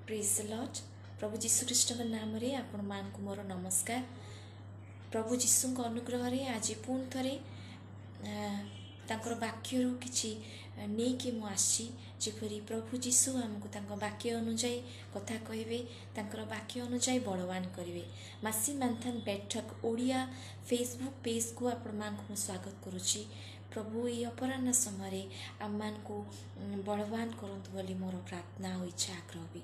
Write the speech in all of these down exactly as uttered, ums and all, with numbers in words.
ପ୍ରେଜ୍ ଲର୍ଡ। ପ୍ରଭୁ ଯୀଶୁଖ୍ରୀଷ୍ଟଙ୍କ ନାମରେ ଆପଣମାନଙ୍କୁ ମୋର ନମସ୍କାର। ପ୍ରଭୁ ଯୀଶୁଙ୍କ ଅନୁଗ୍ରହରେ ଆଜି ପୁଣି ଥରେ ତାଙ୍କର ବାକ୍ୟରୁ କିଛି ନେଇକି ମୁଁ ଆସିଛି, ଯେପରି ପ୍ରଭୁ ଯୀଶୁ ଆମକୁ ତାଙ୍କ ବାକ୍ୟ ଅନୁଯାୟୀ କଥା କହିବେ, ତାଙ୍କର ବାକ୍ୟ ଅନୁଯାୟୀ ବଳବାନ କରିବେ। ମାସି ମାନ୍ଥାନ ବୈଠକ ଓଡ଼ିଆ ଫେସବୁକ୍ ପେଜ୍କୁ ଆପଣମାନଙ୍କୁ ମୁଁ ସ୍ୱାଗତ କରୁଛି। ପ୍ରଭୁ ଏଇ ଅପରାହ୍ନ ସମୟରେ ଆମମାନଙ୍କୁ ବଳବାନ କରନ୍ତୁ ବୋଲି ମୋର ପ୍ରାର୍ଥନା ଆଉ ଇଚ୍ଛା, ଆଗ୍ରହ ବି।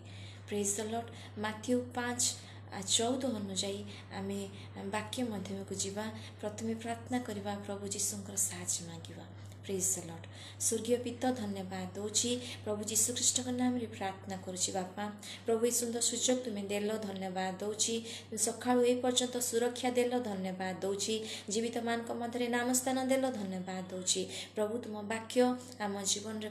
ପ୍ରେଜ୍ ଦ ଲର୍ଡ। ମାଥ୍ୟୁ ପାଞ୍ଚ ଚଉଦ ଅନୁଯାୟୀ ଆମେ ବାକ୍ୟ ମଧ୍ୟକୁ ଯିବା। ପ୍ରଥମେ ପ୍ରାର୍ଥନା କରିବା, ପ୍ରଭୁ ଯୀଶୁଙ୍କର ସାହାଯ୍ୟ ମାଗିବା। ପ୍ରେଜ୍ ଦ ଲର୍ଡ। ସ୍ୱର୍ଗୀୟ ପିତା, ଧନ୍ୟବାଦ ଦେଉଛି। ପ୍ରଭୁ ଯୀଶୁଖ୍ରୀଷ୍ଟଙ୍କ ନାମରେ ପ୍ରାର୍ଥନା କରୁଛି। ବାପା ପ୍ରଭୁ, ଏ ସୁନ୍ଦର ସୁଯୋଗ ତୁମେ ଦେଲ, ଧନ୍ୟବାଦ ଦେଉଛି। ସକାଳୁ ଏ ପର୍ଯ୍ୟନ୍ତ ସୁରକ୍ଷା ଦେଲ, ଧନ୍ୟବାଦ ଦେଉଛି। ଜୀବିତମାନଙ୍କ ମଧ୍ୟରେ ନାମ ସ୍ଥାନ ଦେଲ, ଧନ୍ୟବାଦ ଦେଉଛି। ପ୍ରଭୁ, ତୁମ ବାକ୍ୟ ଆମ ଜୀବନରେ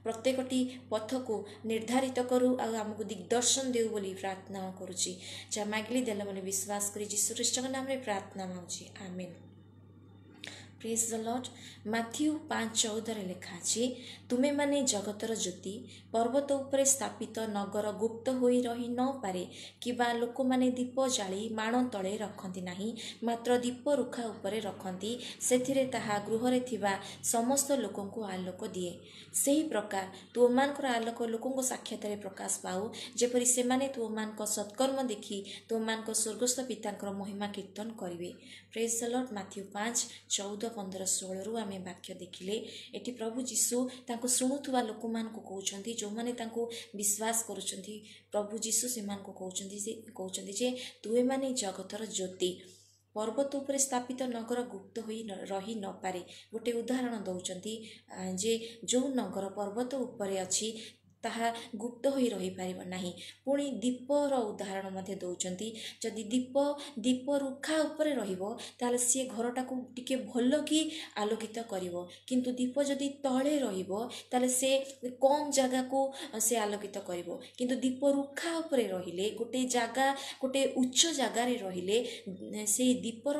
ପ୍ରତ୍ୟେକଟି ପଥକୁ ନିର୍ଦ୍ଧାରିତ କରୁ ଆଉ ଆମକୁ ଦିଗ୍ଦର୍ଶନ ଦେଉ ବୋଲି ପ୍ରାର୍ଥନା କରୁଛି। ଯାହା ମାଗିଲି ଦେଲ ବୋଲି ବିଶ୍ୱାସ କରି ଯୀଶୁଖ୍ରୀଷ୍ଟଙ୍କ ନାମରେ ପ୍ରାର୍ଥନା ମାଗୁଛି, ଆମେନ୍। ପ୍ରେଜ୍ ଦ ଲର୍ଡ। ମାଥ୍ୟୁ ପାଞ୍ଚ ଚଉଦରେ ଲେଖା ଅଛି, ତୁମେମାନେ ଜଗତର ଜ୍ୟୋତି। ପର୍ବତ ଉପରେ ସ୍ଥାପିତ ନଗର ଗୁପ୍ତ ହୋଇ ରହି ନପାରେ। କିମ୍ବା ଲୋକମାନେ ଦୀପ ଜାଳି ମାଣ ତଳେ ରଖନ୍ତି ନାହିଁ, ମାତ୍ର ଦୀପ ରୁଖା ଉପରେ ରଖନ୍ତି, ସେଥିରେ ତାହା ଗୃହରେ ଥିବା ସମସ୍ତ ଲୋକଙ୍କୁ ଆଲୋକ ଦିଏ। ସେହି ପ୍ରକାର ତୁମମାନଙ୍କର ଆଲୋକ ଲୋକଙ୍କ ସାକ୍ଷାତରେ ପ୍ରକାଶ ପାଉ, ଯେପରି ସେମାନେ ତୁମମାନଙ୍କ ସତ୍କର୍ମ ଦେଖି ତୁମମାନଙ୍କ ସ୍ୱର୍ଗସ୍ଥ ପିତାଙ୍କର ମହିମା କୀର୍ତ୍ତନ କରିବେ। ପ୍ରେଜ୍ ଦ ଲର୍ଡ। ମାଥ୍ୟୁ ପାଞ୍ଚ ଚଉଦ, ପନ୍ଦର, ଷୋହଳରୁ ଆମେ ବାକ୍ୟ ଦେଖିଲେ। ଏଠି ପ୍ରଭୁ ଯୀଶୁ ତାଙ୍କୁ ଶୁଣୁଥିବା ଲୋକମାନଙ୍କୁ କହୁଛନ୍ତି, ଯେଉଁମାନେ ତାଙ୍କୁ ବିଶ୍ୱାସ କରୁଛନ୍ତି, ପ୍ରଭୁ ଯୀଶୁ ସେମାନଙ୍କୁ କହୁଛନ୍ତି ଯେ କହୁଛନ୍ତି ଯେ ତୁମେମାନେ ଜଗତର ଜ୍ୟୋତି। ପର୍ବତ ଉପରେ ସ୍ଥାପିତ ନଗର ଗୁପ୍ତ ହୋଇ ରହି ନପାରେ। ଗୋଟେ ଉଦାହରଣ ଦେଉଛନ୍ତି ଯେ ଯେଉଁ ନଗର ପର୍ବତ ଉପରେ ଅଛି, ତାହା ଗୁପ୍ତ ହୋଇ ରହିପାରିବ ନାହିଁ। ପୁଣି ଦୀପର ଉଦାହରଣ ମଧ୍ୟ ଦେଉଛନ୍ତି। ଯଦି ଦୀପ ଦୀପ ରୁଖା ଉପରେ ରହିବ, ତାହେଲେ ସିଏ ଘରଟାକୁ ଟିକେ ଭଲ କି ଆଲୋକିତ କରିବ। କିନ୍ତୁ ଦୀପ ଯଦି ତଳେ ରହିବ, ତାହେଲେ ସେ କମ୍ ଜାଗାକୁ ସେ ଆଲୋକିତ କରିବ। କିନ୍ତୁ ଦୀପ ରୁଖା ଉପରେ ରହିଲେ, ଗୋଟେ ଜାଗା, ଗୋଟେ ଉଚ୍ଚ ଜାଗାରେ ରହିଲେ, ସେଇ ଦୀପର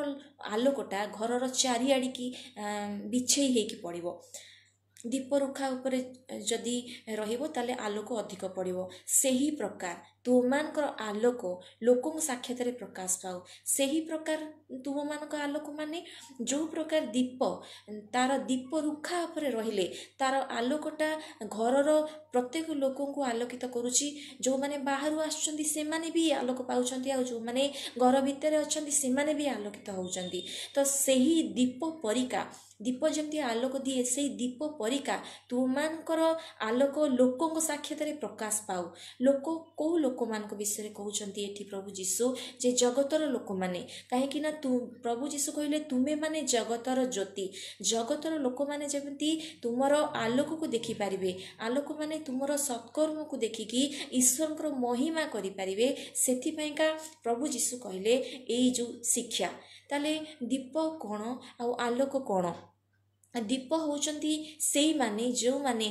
ଆଲୋକଟା ଘରର ଚାରିଆଡ଼ିକି ବିଛେଇ ହେଇକି ପଡ଼ିବ। ଦୀପ ରୁଖା ଉପରେ ଯଦି ରହିବ, ତାହେଲେ ଆଲୋକ ଅଧିକ ପଡ଼ିବ। ସେହି ପ୍ରକାର ତୁମମାନଙ୍କର ଆଲୋକ ଲୋକଙ୍କ ସାକ୍ଷାତରେ ପ୍ରକାଶ ପାଉ। ସେହି ପ୍ରକାର ତୁମମାନଙ୍କ ଆଲୋକ ମାନେ ଯେଉଁ ପ୍ରକାର ଦୀପ, ତାର ଦୀପ ରୁଖା ଉପରେ ରହିଲେ ତାର ଆଲୋକଟା ଘରର ପ୍ରତ୍ୟେକ ଲୋକଙ୍କୁ ଆଲୋକିତ କରୁଛି। ଯେଉଁମାନେ ବାହାରୁ ଆସୁଛନ୍ତି, ସେମାନେ ବି ଆଲୋକ ପାଉଛନ୍ତି, ଆଉ ଯେଉଁମାନେ ଘର ଭିତରେ ଅଛନ୍ତି, ସେମାନେ ବି ଆଲୋକିତ ହେଉଛନ୍ତି। ତ ସେହି ଦୀପ ପରିକା, ଦୀପ ଯେମିତି ଆଲୋକ ଦିଏ, ସେଇ ଦୀପ ପରିକା ତୁମମାନଙ୍କର ଆଲୋକ ଲୋକଙ୍କ ସାକ୍ଷାତରେ ପ୍ରକାଶ ପାଉ। ଲୋକ, କେଉଁ ଲୋକମାନଙ୍କ ବିଷୟରେ କହୁଛନ୍ତି ଏଠି ପ୍ରଭୁ ଯୀଶୁ? ଯେ ଜଗତର ଲୋକମାନେ। କାହିଁକି ନା ତୁ ପ୍ରଭୁ ଯୀଶୁ କହିଲେ, ତୁମେମାନେ ଜଗତର ଜ୍ୟୋତି। ଜଗତର ଲୋକମାନେ ଯେମିତି ତୁମର ଆଲୋକକୁ ଦେଖିପାରିବେ, ଆଲୋକମାନେ ତୁମର ସତ୍କର୍ମକୁ ଦେଖିକି ଈଶ୍ୱରଙ୍କର ମହିମା କରିପାରିବେ, ସେଥିପାଇଁକା ପ୍ରଭୁ ଯୀଶୁ କହିଲେ ଏଇ ଯେଉଁ ଶିକ୍ଷା। ତାହେଲେ ଦୀପ କ'ଣ ଆଉ ଆଲୋକ କ'ଣ? ଦୀପ ହେଉଛନ୍ତି ସେଇମାନେ ଯେଉଁମାନେ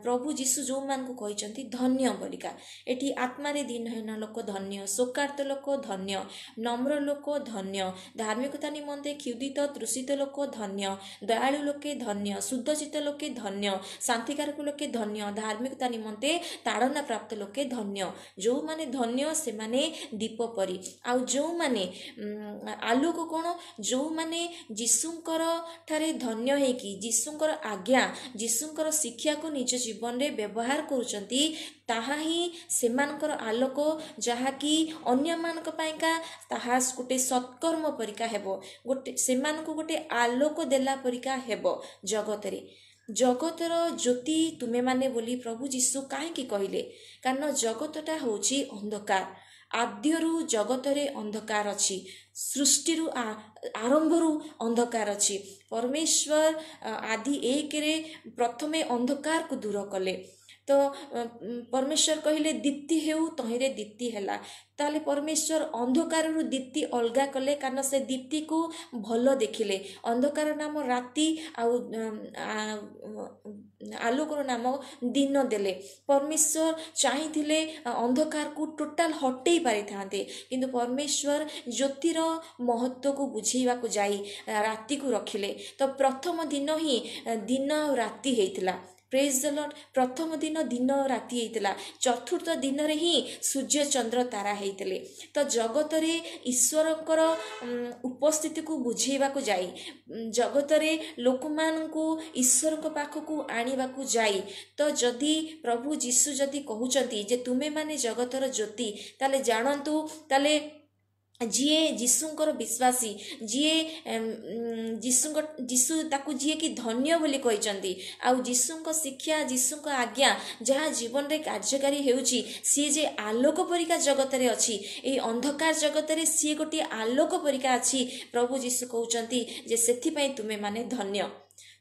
ପ୍ରଭୁ ଯୀଶୁ ଯେଉଁମାନଙ୍କୁ କହିଛନ୍ତି ଧନ୍ୟ ବୋଲିକା। ଏଠି ଆତ୍ମାରେ ଦୀନହୀନ ଲୋକ ଧନ୍ୟ, ଶୋକାର୍ତ୍ତ ଲୋକ ଧନ୍ୟ, ନମ୍ର ଲୋକ ଧନ୍ୟ, ଧାର୍ମିକତା ନିମନ୍ତେ କ୍ଷୁଧିତ ତୃଷିତ ଲୋକ ଧନ୍ୟ, ଦୟାଳୁ ଲୋକେ ଧନ୍ୟ, ଶୁଦ୍ଧଚିତ୍ତ ଲୋକେ ଧନ୍ୟ, ଶାନ୍ତିକାରକ ଲୋକେ ଧନ୍ୟ, ଧାର୍ମିକତା ନିମନ୍ତେ ତାଡ଼ନା ପ୍ରାପ୍ତ ଲୋକେ ଧନ୍ୟ। ଯେଉଁମାନେ ଧନ୍ୟ, ସେମାନେ ଦୀପ ପରି। ଆଉ ଯେଉଁମାନେ ଆଲୋକ କ'ଣ? ଯେଉଁମାନେ ଯୀଶୁଙ୍କର ଠାରେ ଧନ୍ୟ ହେଇକି ଯୀଶୁଙ୍କର ଆଜ୍ଞା, ଯୀଶୁଙ୍କର ଶିକ୍ଷାକୁ ନିଜ ଜୀବନରେ ବ୍ୟବହାର କରୁଛନ୍ତି, ତାହା ହିଁ ସେମାନଙ୍କର ଆଲୋକ, ଯାହାକି ଅନ୍ୟମାନଙ୍କ ପାଇଁକା ତାହା ଗୋଟେ ସତ୍କର୍ମ ପରିକା ହେବ, ଗୋଟେ ସେମାନଙ୍କୁ ଗୋଟେ ଆଲୋକ ଦେଲା ପରିକା ହେବ ଜଗତରେ। ଜଗତର ଜ୍ୟୋତି ତୁମେମାନେ ବୋଲି ପ୍ରଭୁ ଯୀଶୁ କାହିଁକି କହିଲେ? କାରଣ ଜଗତଟା ହେଉଛି ଅନ୍ଧକାର। ଆଦ୍ୟରୁ ଜଗତରେ ଅନ୍ଧକାର ଅଛି। ସୃଷ୍ଟିରୁ ଆରମ୍ଭରୁ ଅନ୍ଧକାର ଅଛି। ପରମେଶ୍ୱର ଆଦି ଏକରେ ପ୍ରଥମେ ଅନ୍ଧକାରକୁ ଦୂର କଲେ। ତ ପରମେଶ୍ୱର କହିଲେ, ଦୀପ୍ତି ହେଉ, ତହିଁରେ ଦୀପ୍ତି ହେଲା। ତାହେଲେ ପରମେଶ୍ୱର ଅନ୍ଧକାରରୁ ଦୀପ୍ତି ଅଲଗା କଲେ, କାରଣ ସେ ଦୀପ୍ତିକୁ ଭଲ ଦେଖିଲେ। ଅନ୍ଧକାର ନାମ ରାତି ଆଉ ଆଲୋକର ନାମ ଦିନ ଦେଲେ। ପରମେଶ୍ୱର ଚାହିଁଥିଲେ ଅନ୍ଧକାରକୁ ଟୋଟାଲ ହଟେଇ ପାରିଥାନ୍ତେ, କିନ୍ତୁ ପରମେଶ୍ୱର ଜ୍ୟୋତିର ମହତ୍ଵକୁ ବୁଝେଇବାକୁ ଯାଇ ରାତିକୁ ରଖିଲେ। ତ ପ୍ରଥମ ଦିନ ହିଁ ଦିନ ଆଉ ରାତି ହେଇଥିଲା। Praise the Lord. ପ୍ରଥମ ଦିନ ଦିନ ରାତି ହେଇଥିଲା, ଚତୁର୍ଥ ଦିନରେ ହିଁ ସୂର୍ଯ୍ୟ ଚନ୍ଦ୍ର ତାରା ହେଇଥିଲେ। ତ ଜଗତରେ ଈଶ୍ୱରଙ୍କର ଉପସ୍ଥିତିକୁ ବୁଝେଇବାକୁ ଯାଇ, ଜଗତରେ ଲୋକମାନଙ୍କୁ ଈଶ୍ୱରଙ୍କ ପାଖକୁ ଆଣିବାକୁ ଯାଇ, ତ ଯଦି ପ୍ରଭୁ ଯୀଶୁ ଯଦି କହୁଛନ୍ତି ଯେ ତୁମେମାନେ ଜଗତର ଜ୍ୟୋତି, ତାହେଲେ ଜାଣନ୍ତୁ, ତାହେଲେ ଯିଏ ଯୀଶୁଙ୍କର ବିଶ୍ୱାସୀ, ଯିଏ ଯୀଶୁଙ୍କ ଯୀଶୁ ତାକୁ ଯିଏକି ଧନ୍ୟ ବୋଲି କହିଛନ୍ତି, ଆଉ ଯୀଶୁଙ୍କ ଶିକ୍ଷା, ଯୀଶୁଙ୍କ ଆଜ୍ଞା ଯାହା ଜୀବନରେ କାର୍ଯ୍ୟକାରୀ ହେଉଛି, ସିଏ ଯେ ଆଲୋକ ପରିକା ଜଗତରେ ଅଛି, ଏଇ ଅନ୍ଧକାର ଜଗତରେ ସିଏ ଗୋଟିଏ ଆଲୋକ ପରିକା ଅଛି। ପ୍ରଭୁ ଯୀଶୁ କହୁଛନ୍ତି ଯେ ସେଥିପାଇଁ ତୁମେମାନେ ଧନ୍ୟ।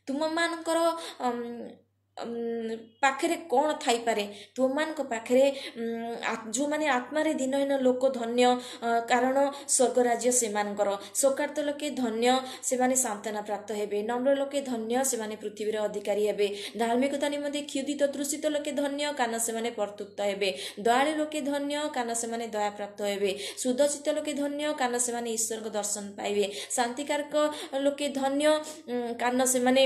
ତୁମମାନଙ୍କର ପାଖରେ କ'ଣ ଥାଇପାରେ? ତୁମମାନଙ୍କ ପାଖରେ ଯେଉଁମାନେ ଆତ୍ମାରେ ଦିନହୀନ ଲୋକ ଧନ୍ୟ, କାରଣ ସ୍ୱର୍ଗ ରାଜ୍ୟ ସେମାନଙ୍କର। ଶୋକାର୍ତ୍ତ ଲୋକେ ଧନ୍ୟ, ସେମାନେ ସାନ୍ତ୍ୱନା ପ୍ରାପ୍ତ ହେବେ। ନମ୍ର ଲୋକେ ଧନ୍ୟ, ସେମାନେ ପୃଥିବୀର ଅଧିକାରୀ ହେବେ। ଧାର୍ମିକତା ନିମନ୍ତେ କ୍ଷୁଧିତ ତୃଷିତ ଲୋକେ ଧନ୍ୟ, କାରଣ ସେମାନେ ପରିତୃପ୍ତ ହେବେ। ଦୟାଳୁ ଲୋକେ ଧନ୍ୟ, କାରଣ ସେମାନେ ଦୟାପ୍ରାପ୍ତ ହେବେ। ଶୁଦ୍ଧଚିତ୍ତ ଲୋକେ ଧନ୍ୟ, କାରଣ ସେମାନେ ଈଶ୍ୱରଙ୍କ ଦର୍ଶନ ପାଇବେ। ଶାନ୍ତିକାରକ ଲୋକେ ଧନ୍ୟ, କାରଣ ସେମାନେ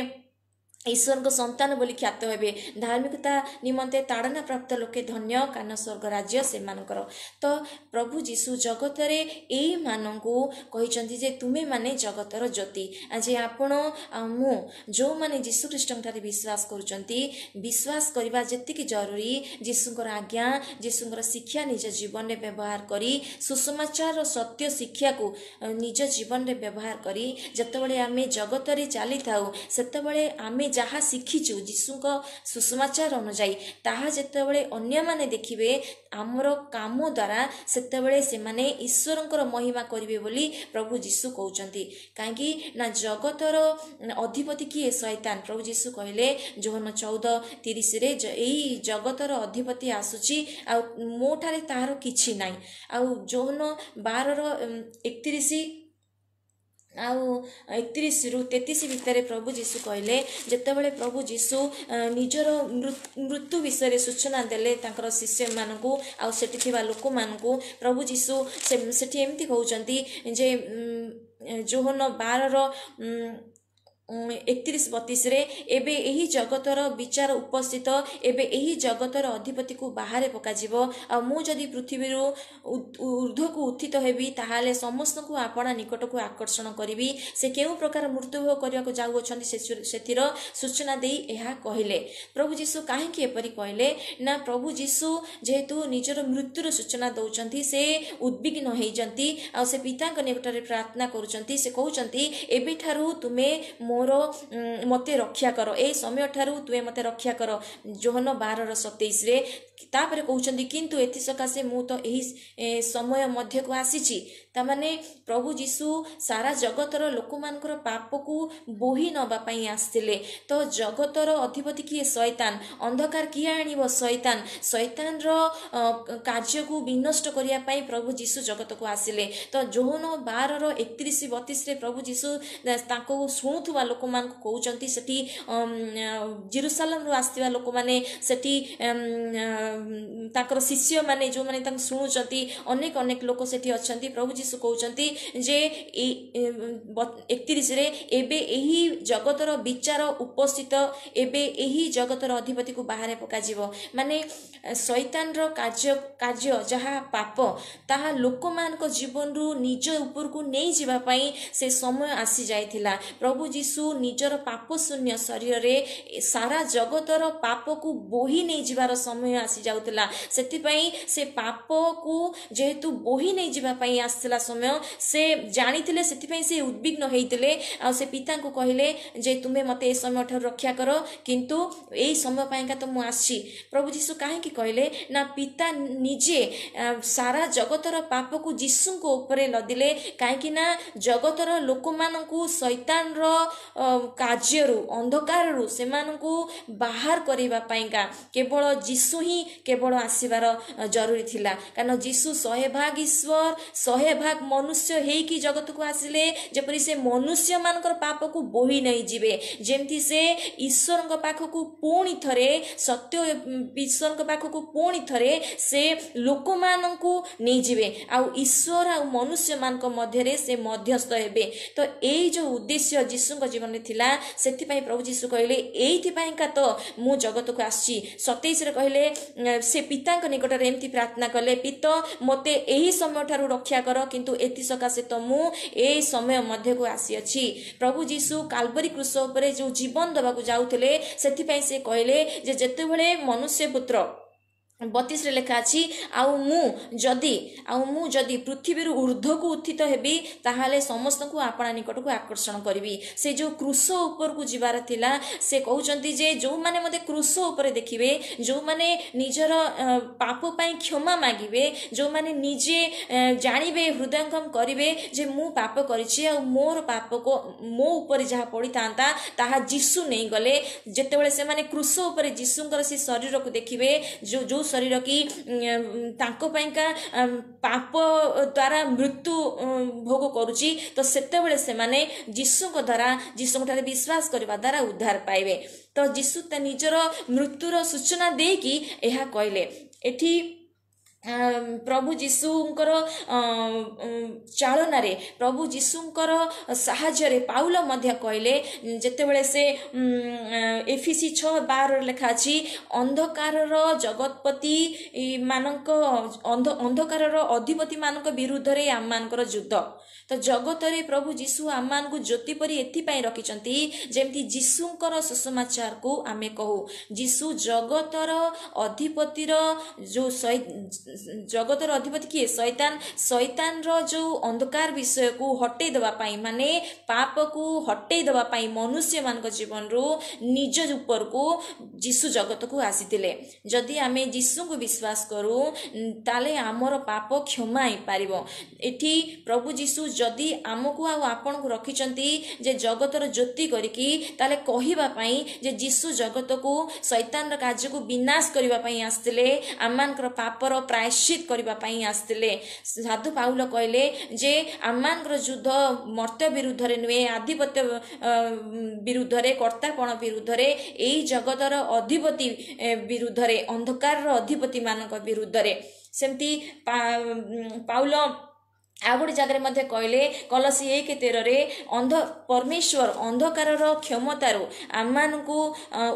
ଈଶ୍ୱରଙ୍କ ସନ୍ତାନ ବୋଲି ଖ୍ୟାତ ହେବେ। ଧାର୍ମିକତା ନିମନ୍ତେ ତାଡ଼ନା ପ୍ରାପ୍ତ ଲୋକେ ଧନ୍ୟ, କାରଣ ସ୍ୱର୍ଗ ରାଜ୍ୟ ସେମାନଙ୍କର। ତ ପ୍ରଭୁ ଯୀଶୁ ଜଗତରେ ଏଇମାନଙ୍କୁ କହିଛନ୍ତି ଯେ ତୁମେମାନେ ଜଗତର ଜ୍ୟୋତି। ଆଜି ଆପଣ ଆଉ ମୁଁ ଯେଉଁମାନେ ଯୀଶୁଖ୍ରୀଷ୍ଟଙ୍କ ଠାରେ ବିଶ୍ୱାସ କରୁଛନ୍ତି, ବିଶ୍ୱାସ କରିବା ଯେତିକି ଜରୁରୀ, ଯୀଶୁଙ୍କର ଆଜ୍ଞା, ଯୀଶୁଙ୍କର ଶିକ୍ଷା ନିଜ ଜୀବନରେ ବ୍ୟବହାର କରି, ସୁସମାଚାରର ସତ୍ୟ ଶିକ୍ଷାକୁ ନିଜ ଜୀବନରେ ବ୍ୟବହାର କରି ଯେତେବେଳେ ଆମେ ଜଗତରେ ଚାଲିଥାଉ, ସେତେବେଳେ ଆମେ ଯାହା ଶିଖିଛୁ ଯୀଶୁଙ୍କ ସୁସମାଚାର ଅନୁଯାୟୀ, ତାହା ଯେତେବେଳେ ଅନ୍ୟମାନେ ଦେଖିବେ ଆମର କାମ ଦ୍ୱାରା, ସେତେବେଳେ ସେମାନେ ଈଶ୍ୱରଙ୍କର ମହିମା କରିବେ ବୋଲି ପ୍ରଭୁ ଯୀଶୁ କହୁଛନ୍ତି। କାହିଁକି ନା ଜଗତର ଅଧିପତି କିଏ? ଶୈତାନ। ପ୍ରଭୁ ଯୀଶୁ କହିଲେ ଯୋହନ ଚଉଦ ତିରିଶରେ, ଏଇ ଜଗତର ଅଧିପତି ଆସୁଛି ଆଉ ମୋ ଠାରେ ତାହାର କିଛି ନାହିଁ। ଆଉ ଯୋହନ ବାରର ଏକତିରିଶ ଆଉ ଏକତିରିଶରୁ ତେତିଶ ଭିତରେ ପ୍ରଭୁ ଯୀଶୁ କହିଲେ, ଯେତେବେଳେ ପ୍ରଭୁ ଯୀଶୁ ନିଜର ମୃତ୍ୟୁ ବିଷୟରେ ସୂଚନା ଦେଲେ ତାଙ୍କର ଶିଷ୍ୟମାନଙ୍କୁ ଆଉ ସେଠି ଥିବା ଲୋକମାନଙ୍କୁ, ପ୍ରଭୁ ଯୀଶୁ ସେଠି ଏମିତି କହୁଛନ୍ତି ଯେ ଯୋହନ ବାରର ଏକତିରିଶ ବତିଶରେ, ଏବେ ଏହି ଜଗତର ବିଚାର ଉପସ୍ଥିତ, ଏବେ ଏହି ଜଗତର ଅଧିପତିକୁ ବାହାରେ ପକାଯିବ। ଆଉ ମୁଁ ଯଦି ପୃଥିବୀରୁ ଉର୍ଦ୍ଧ୍ୱକୁ ଉତ୍ଥିତ ହେବି, ତାହେଲେ ସମସ୍ତଙ୍କୁ ଆପଣା ନିକଟକୁ ଆକର୍ଷଣ କରିବି। ସେ କେଉଁ ପ୍ରକାର ମୃତ୍ୟୁଭୋଗ କରିବାକୁ ଯାଉଅଛନ୍ତି ସେଥିର ସୂଚନା ଦେଇ ଏହା କହିଲେ। ପ୍ରଭୁ ଯୀଶୁ କାହିଁକି ଏପରି କହିଲେ ନା, ପ୍ରଭୁ ଯୀଶୁ ଯେହେତୁ ନିଜର ମୃତ୍ୟୁର ସୂଚନା ଦେଉଛନ୍ତି, ସେ ଉଦ୍ବିଗ୍ନ ହେଇଛନ୍ତି ଆଉ ସେ ପିତାଙ୍କ ନିକଟରେ ପ୍ରାର୍ଥନା କରୁଛନ୍ତି। ସେ କହୁଛନ୍ତି, ଏବେଠାରୁ ତୁମେ ମୋର ମୋତେ ରକ୍ଷା କର, ଏଇ ସମୟଠାରୁ ତୁମେ ମୋତେ ରକ୍ଷା କର, ଯୋହନ ବାରର ସତେଇଶରେ। ତାପରେ କହୁଛନ୍ତି, କିନ୍ତୁ ଏଥିସକାଶେ ମୁଁ ତ ଏହି ସମୟ ମଧ୍ୟକୁ ଆସିଛି। ତାମାନେ ପ୍ରଭୁ ଯୀଶୁ ସାରା ଜଗତର ଲୋକମାନଙ୍କର ପାପକୁ ବୋହି ନେବା ପାଇଁ ଆସିଥିଲେ। ତ ଜଗତର ଅଧିପତି କିଏ? ଶୈତାନ। ଅନ୍ଧକାର କିଏ ଆଣିବ? ଶୈତାନ। ଶୈତାନର କାର୍ଯ୍ୟକୁ ବିନଷ୍ଟ କରିବା ପାଇଁ ପ୍ରଭୁ ଯୀଶୁ ଜଗତକୁ ଆସିଲେ। ତ ଯୋହନ ବାରର ଏକତିରିଶ ବତିଶରେ ପ୍ରଭୁ ଯୀଶୁ ତାଙ୍କୁ ଶୁଣୁଥିବା ଲୋକମାନଙ୍କୁ କହୁଛନ୍ତି, ସେଠି ଜିରୁସାଲାମରୁ ଆସିଥିବା ଲୋକମାନେ, ସେଠି ତାଙ୍କର ଶିଷ୍ୟମାନେ ଯେଉଁମାନେ ତାଙ୍କୁ ଶୁଣୁଛନ୍ତି, ଅନେକ ଅନେକ ଲୋକ ସେଠି ଅଛନ୍ତି। ପ୍ରଭୁ ଯୀଶୁ କହୁଛନ୍ତି ଯେ ଏକତିରିଶରେ, ଏବେ ଏହି ଜଗତର ବିଚାର ଉପସ୍ଥିତ, ଏବେ ଏହି ଜଗତର ଅଧିପତିକୁ ବାହାରେ ପକାଯିବ। ମାନେ ଶୈତାନର କାର୍ଯ୍ୟ କାର୍ଯ୍ୟ ଯାହା ପାପ, ତାହା ଲୋକମାନଙ୍କ ଜୀବନରୁ ନିଜ ଉପରକୁ ନେଇଯିବା ପାଇଁ ସେ ସମୟ ଆସିଯାଇଥିଲା। ପ୍ରଭୁ ଯୀଶୁ ନିଜର ପାପ ଶୂନ୍ୟ ଶରୀରରେ ସାରା ଜଗତର ପାପକୁ ବୋହି ନେଇଯିବାର ସମୟ ଆସିଯାଉଥିଲା। ସେଥିପାଇଁ ସେ ପାପକୁ ଯେହେତୁ ବୋହି ନେଇଯିବା ପାଇଁ ଆସିଥିଲା ସମୟ, ସେ ଜାଣିଥିଲେ, ସେଥିପାଇଁ ସେ ଉଦ୍ବିଗ୍ନ ହେଇଥିଲେ ଆଉ ସେ ପିତାଙ୍କୁ କହିଲେ ଯେ ତୁମେ ମୋତେ ଏ ସମୟଠାରୁ ରକ୍ଷା କର, କିନ୍ତୁ ଏଇ ସମୟ ପାଇଁକା ତ ମୁଁ ଆସିଛି। ପ୍ରଭୁ ଯୀଶୁ କାହିଁକି କହିଲେ ନା, ପିତା ନିଜେ ସାରା ଜଗତର ପାପକୁ ଯୀଶୁଙ୍କ ଉପରେ ଲଦିଲେ, କାହିଁକି ନା ଜଗତର ଲୋକମାନଙ୍କୁ ଶୈତାନର କାର୍ଯ୍ୟରୁ, ଅନ୍ଧକାରରୁ ସେମାନଙ୍କୁ ବାହାର କରିବା ପାଇଁକା କେବଳ ଯୀଶୁ ହିଁ କେବଳ ଆସିବାର ଜରୁରୀ ଥିଲା। କାରଣ ଯୀଶୁ ଶହେ ଭାଗ ଈଶ୍ୱର, ଶହେ ଭାଗ ମନୁଷ୍ୟ ହେଇକି ଜଗତକୁ ଆସିଲେ, ଯେପରି ସେ ମନୁଷ୍ୟମାନଙ୍କର ପାପକୁ ବୋହି ନେଇଯିବେ, ଯେମିତି ସେ ଈଶ୍ୱରଙ୍କ ପାଖକୁ ପୁଣି ଥରେ ସତ୍ୟ ଈଶ୍ୱରଙ୍କ ପାଖକୁ ପୁଣି ଥରେ ସେ ଲୋକମାନଙ୍କୁ ନେଇଯିବେ, ଆଉ ଈଶ୍ୱର ଆଉ ମନୁଷ୍ୟମାନଙ୍କ ମଧ୍ୟରେ ସେ ମଧ୍ୟସ୍ଥ ହେବେ। ତ ଏଇ ଯେଉଁ ଉଦ୍ଦେଶ୍ୟ ଯୀଶୁଙ୍କ ଜୀବନରେ ଥିଲା, ସେଥିପାଇଁ ପ୍ରଭୁ ଯୀଶୁ କହିଲେ, ଏଇଥିପାଇଁକା ତ ମୁଁ ଜଗତକୁ ଆସିଛି। ସତେଇଶରେ କହିଲେ, ସେ ପିତାଙ୍କ ନିକଟରେ ଏମିତି ପ୍ରାର୍ଥନା କଲେ, ପିତ ମୋତେ ଏହି ସମୟଠାରୁ ରକ୍ଷା କର, କିନ୍ତୁ ଏଥି ସକାଶେ ତ ମୁଁ ଏଇ ସମୟ ମଧ୍ୟକୁ ଆସିଅଛି। ପ୍ରଭୁ ଯୀଶୁ କାଲବରୀ କ୍ରୁଶ ଉପରେ ଯେଉଁ ଜୀବନ ଦେବାକୁ ଯାଉଥିଲେ, ସେଥିପାଇଁ ସେ କହିଲେ ଯେ ଯେତେବେଳେ ମନୁଷ୍ୟ ପୁତ୍ର, ବତିଶରେ ଲେଖା ଅଛି, ଆଉ ମୁଁ ଯଦି ଆଉ ମୁଁ ଯଦି ପୃଥିବୀରୁ ଉର୍ଦ୍ଧ୍ୱକୁ ଉତ୍ଥିତ ହେବି, ତାହେଲେ ସମସ୍ତଙ୍କୁ ଆପଣା ନିକଟକୁ ଆକର୍ଷଣ କରିବି। ସେ ଯେଉଁ କ୍ରୁଶ ଉପରକୁ ଯିବାର ଥିଲା, ସେ କହୁଛନ୍ତି ଯେ ଯେଉଁମାନେ ମୋତେ କ୍ରୁଶ ଉପରେ ଦେଖିବେ, ଯେଉଁମାନେ ନିଜର ପାପ ପାଇଁ କ୍ଷମା ମାଗିବେ, ଯେଉଁମାନେ ନିଜେ ଜାଣିବେ, ହୃଦୟଙ୍ଗମ କରିବେ ଯେ ମୁଁ ପାପ କରିଛି ଆଉ ମୋର ପାପକୁ ମୋ ଉପରେ ଯାହା ପଡ଼ିଥାନ୍ତା ତାହା ଯୀଶୁ ନେଇଗଲେ, ଯେତେବେଳେ ସେମାନେ କ୍ରୁଶ ଉପରେ ଯୀଶୁଙ୍କର ସେ ଶରୀରକୁ ଦେଖିବେ, ଯେଉଁ ଯେଉଁ ଶରୀର କି ତାଙ୍କ ପାଇଁକା ପାପ ଦ୍ୱାରା ମୃତ୍ୟୁ ଭୋଗ କରୁଛି, ତ ସେତେବେଳେ ସେମାନେ ଯୀଶୁଙ୍କ ଦ୍ୱାରା, ଯୀଶୁଙ୍କ ଠାରେ ବିଶ୍ୱାସ କରିବା ଦ୍ୱାରା ଉଦ୍ଧାର ପାଇବେ। ତ ଯୀଶୁ ତା ନିଜର ମୃତ୍ୟୁର ସୂଚନା ଦେଇକି ଏହା କହିଲେ। ଏଠି ପ୍ରଭୁ ଯୀଶୁଙ୍କର ଚାଳନାରେ, ପ୍ରଭୁ ଯୀଶୁଙ୍କର ସାହାଯ୍ୟରେ ପାଉଲ ମଧ୍ୟ କହିଲେ, ଯେତେବେଳେ ସେ ଏଫିସି ଛଅ ବାରରେ ଲେଖା ଅଛି, ଅନ୍ଧକାରର ଜଗତପତି ମାନଙ୍କ ଅନ୍ଧ ଅନ୍ଧକାରର ଅଧିପତିମାନଙ୍କ ବିରୁଦ୍ଧରେ ଆମମାନଙ୍କର ଯୁଦ୍ଧ। ତ ଜଗତରେ ପ୍ରଭୁ ଯୀଶୁ ଆମମାନଙ୍କୁ ଜ୍ୟୋତି ପରି ଏଥିପାଇଁ ରଖିଛନ୍ତି ଯେମିତି ଯୀଶୁଙ୍କର ସୁସମାଚାରକୁ ଆମେ କହୁ। ଯୀଶୁ ଜଗତର ଅଧିପତିର ଯେଉଁ, ଜଗତର ଅଧିପତି କିଏ? ଶୈତାନ। ଶୈତାନର ଯେଉଁ ଅନ୍ଧକାର ବିଷୟକୁ ହଟେଇ ଦେବା ପାଇଁ, ମାନେ ପାପକୁ ହଟେଇ ଦେବା ପାଇଁ ମନୁଷ୍ୟମାନଙ୍କ ଜୀବନରୁ ନିଜ ଉପରକୁ ଯୀଶୁ ଜଗତକୁ ଆସିଥିଲେ। ଯଦି ଆମେ ଯୀଶୁଙ୍କୁ ବିଶ୍ୱାସ କରୁ, ତାହେଲେ ଆମର ପାପ କ୍ଷମା ହେଇପାରିବ। ଏଠି ପ୍ରଭୁ ଯୀଶୁ ଯଦି ଆମକୁ ଆଉ ଆପଣଙ୍କୁ ରଖିଛନ୍ତି ଯେ ଜଗତର ଜ୍ୟୋତି କରିକି, ତାହେଲେ କହିବା ପାଇଁ ଯେ ଯୀଶୁ ଜଗତକୁ ଶୈତାନର କାର୍ଯ୍ୟକୁ ବିନାଶ କରିବା ପାଇଁ ଆସିଥିଲେ, ଆମମାନଙ୍କର ପାପର ପ୍ରାୟଶ୍ଚିତ କରିବା ପାଇଁ ଆସିଥିଲେ। ସାଧୁ ପାଉଲ କହିଲେ ଯେ ଆମମାନଙ୍କର ଯୁଦ୍ଧ ମର୍ତ୍ତ୍ୟ ବିରୁଦ୍ଧରେ ନୁହେଁ, ଆଧିପତ୍ୟ ବିରୁଦ୍ଧରେ, କର୍ତ୍ତାପଣ ବିରୁଦ୍ଧରେ, ଏଇ ଜଗତର ଅଧିପତି ବିରୁଦ୍ଧରେ, ଅନ୍ଧକାରର ଅଧିପତିମାନଙ୍କ ବିରୁଦ୍ଧରେ। ସେମିତି ପାଉଲ ଆଉ ଗୋଟେ ଜାଗାରେ ମଧ୍ୟ କହିଲେ, କଲସି ଏକ ତେରରେ, ଅନ୍ଧ ପରମେଶ୍ୱର ଅନ୍ଧକାରର କ୍ଷମତାରୁ ଆମମାନଙ୍କୁ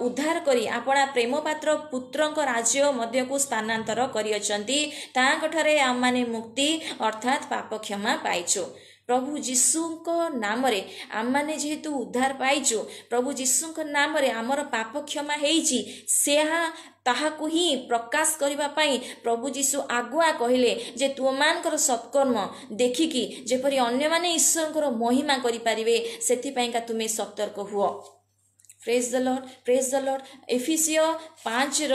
ଉଦ୍ଧାର କରି ଆପଣା ପ୍ରେମପାତ୍ର ପୁତ୍ରଙ୍କ ରାଜ୍ୟ ମଧ୍ୟକୁ ସ୍ଥାନାନ୍ତର କରିଅଛନ୍ତି, ତାଙ୍କଠାରେ ଆମମାନେ ମୁକ୍ତି ଅର୍ଥାତ୍ ପାପ କ୍ଷମା ପାଇଛୁ। ପ୍ରଭୁ ଯୀଶୁଙ୍କ ନାମରେ ଆମମାନେ ଯେହେତୁ ଉଦ୍ଧାର ପାଇଛୁ, ପ୍ରଭୁ ଯୀଶୁଙ୍କ ନାମରେ ଆମର ପାପ କ୍ଷମା ହେଇଛି, ସେହା ତାହାକୁ ହିଁ ପ୍ରକାଶ କରିବା ପାଇଁ ପ୍ରଭୁ ଯୀଶୁ ଆଗୁଆ କହିଲେ ଯେ ତୁମମାନଙ୍କର ସତ୍କର୍ମ ଦେଖିକି ଯେପରି ଅନ୍ୟମାନେ ଈଶ୍ୱରଙ୍କର ମହିମା କରିପାରିବେ, ସେଥିପାଇଁକା ତୁମେ ସତର୍କ ହୁଅ। Praise the Lord, praise the Lord. ଏଫିସିଓ ପାଞ୍ଚର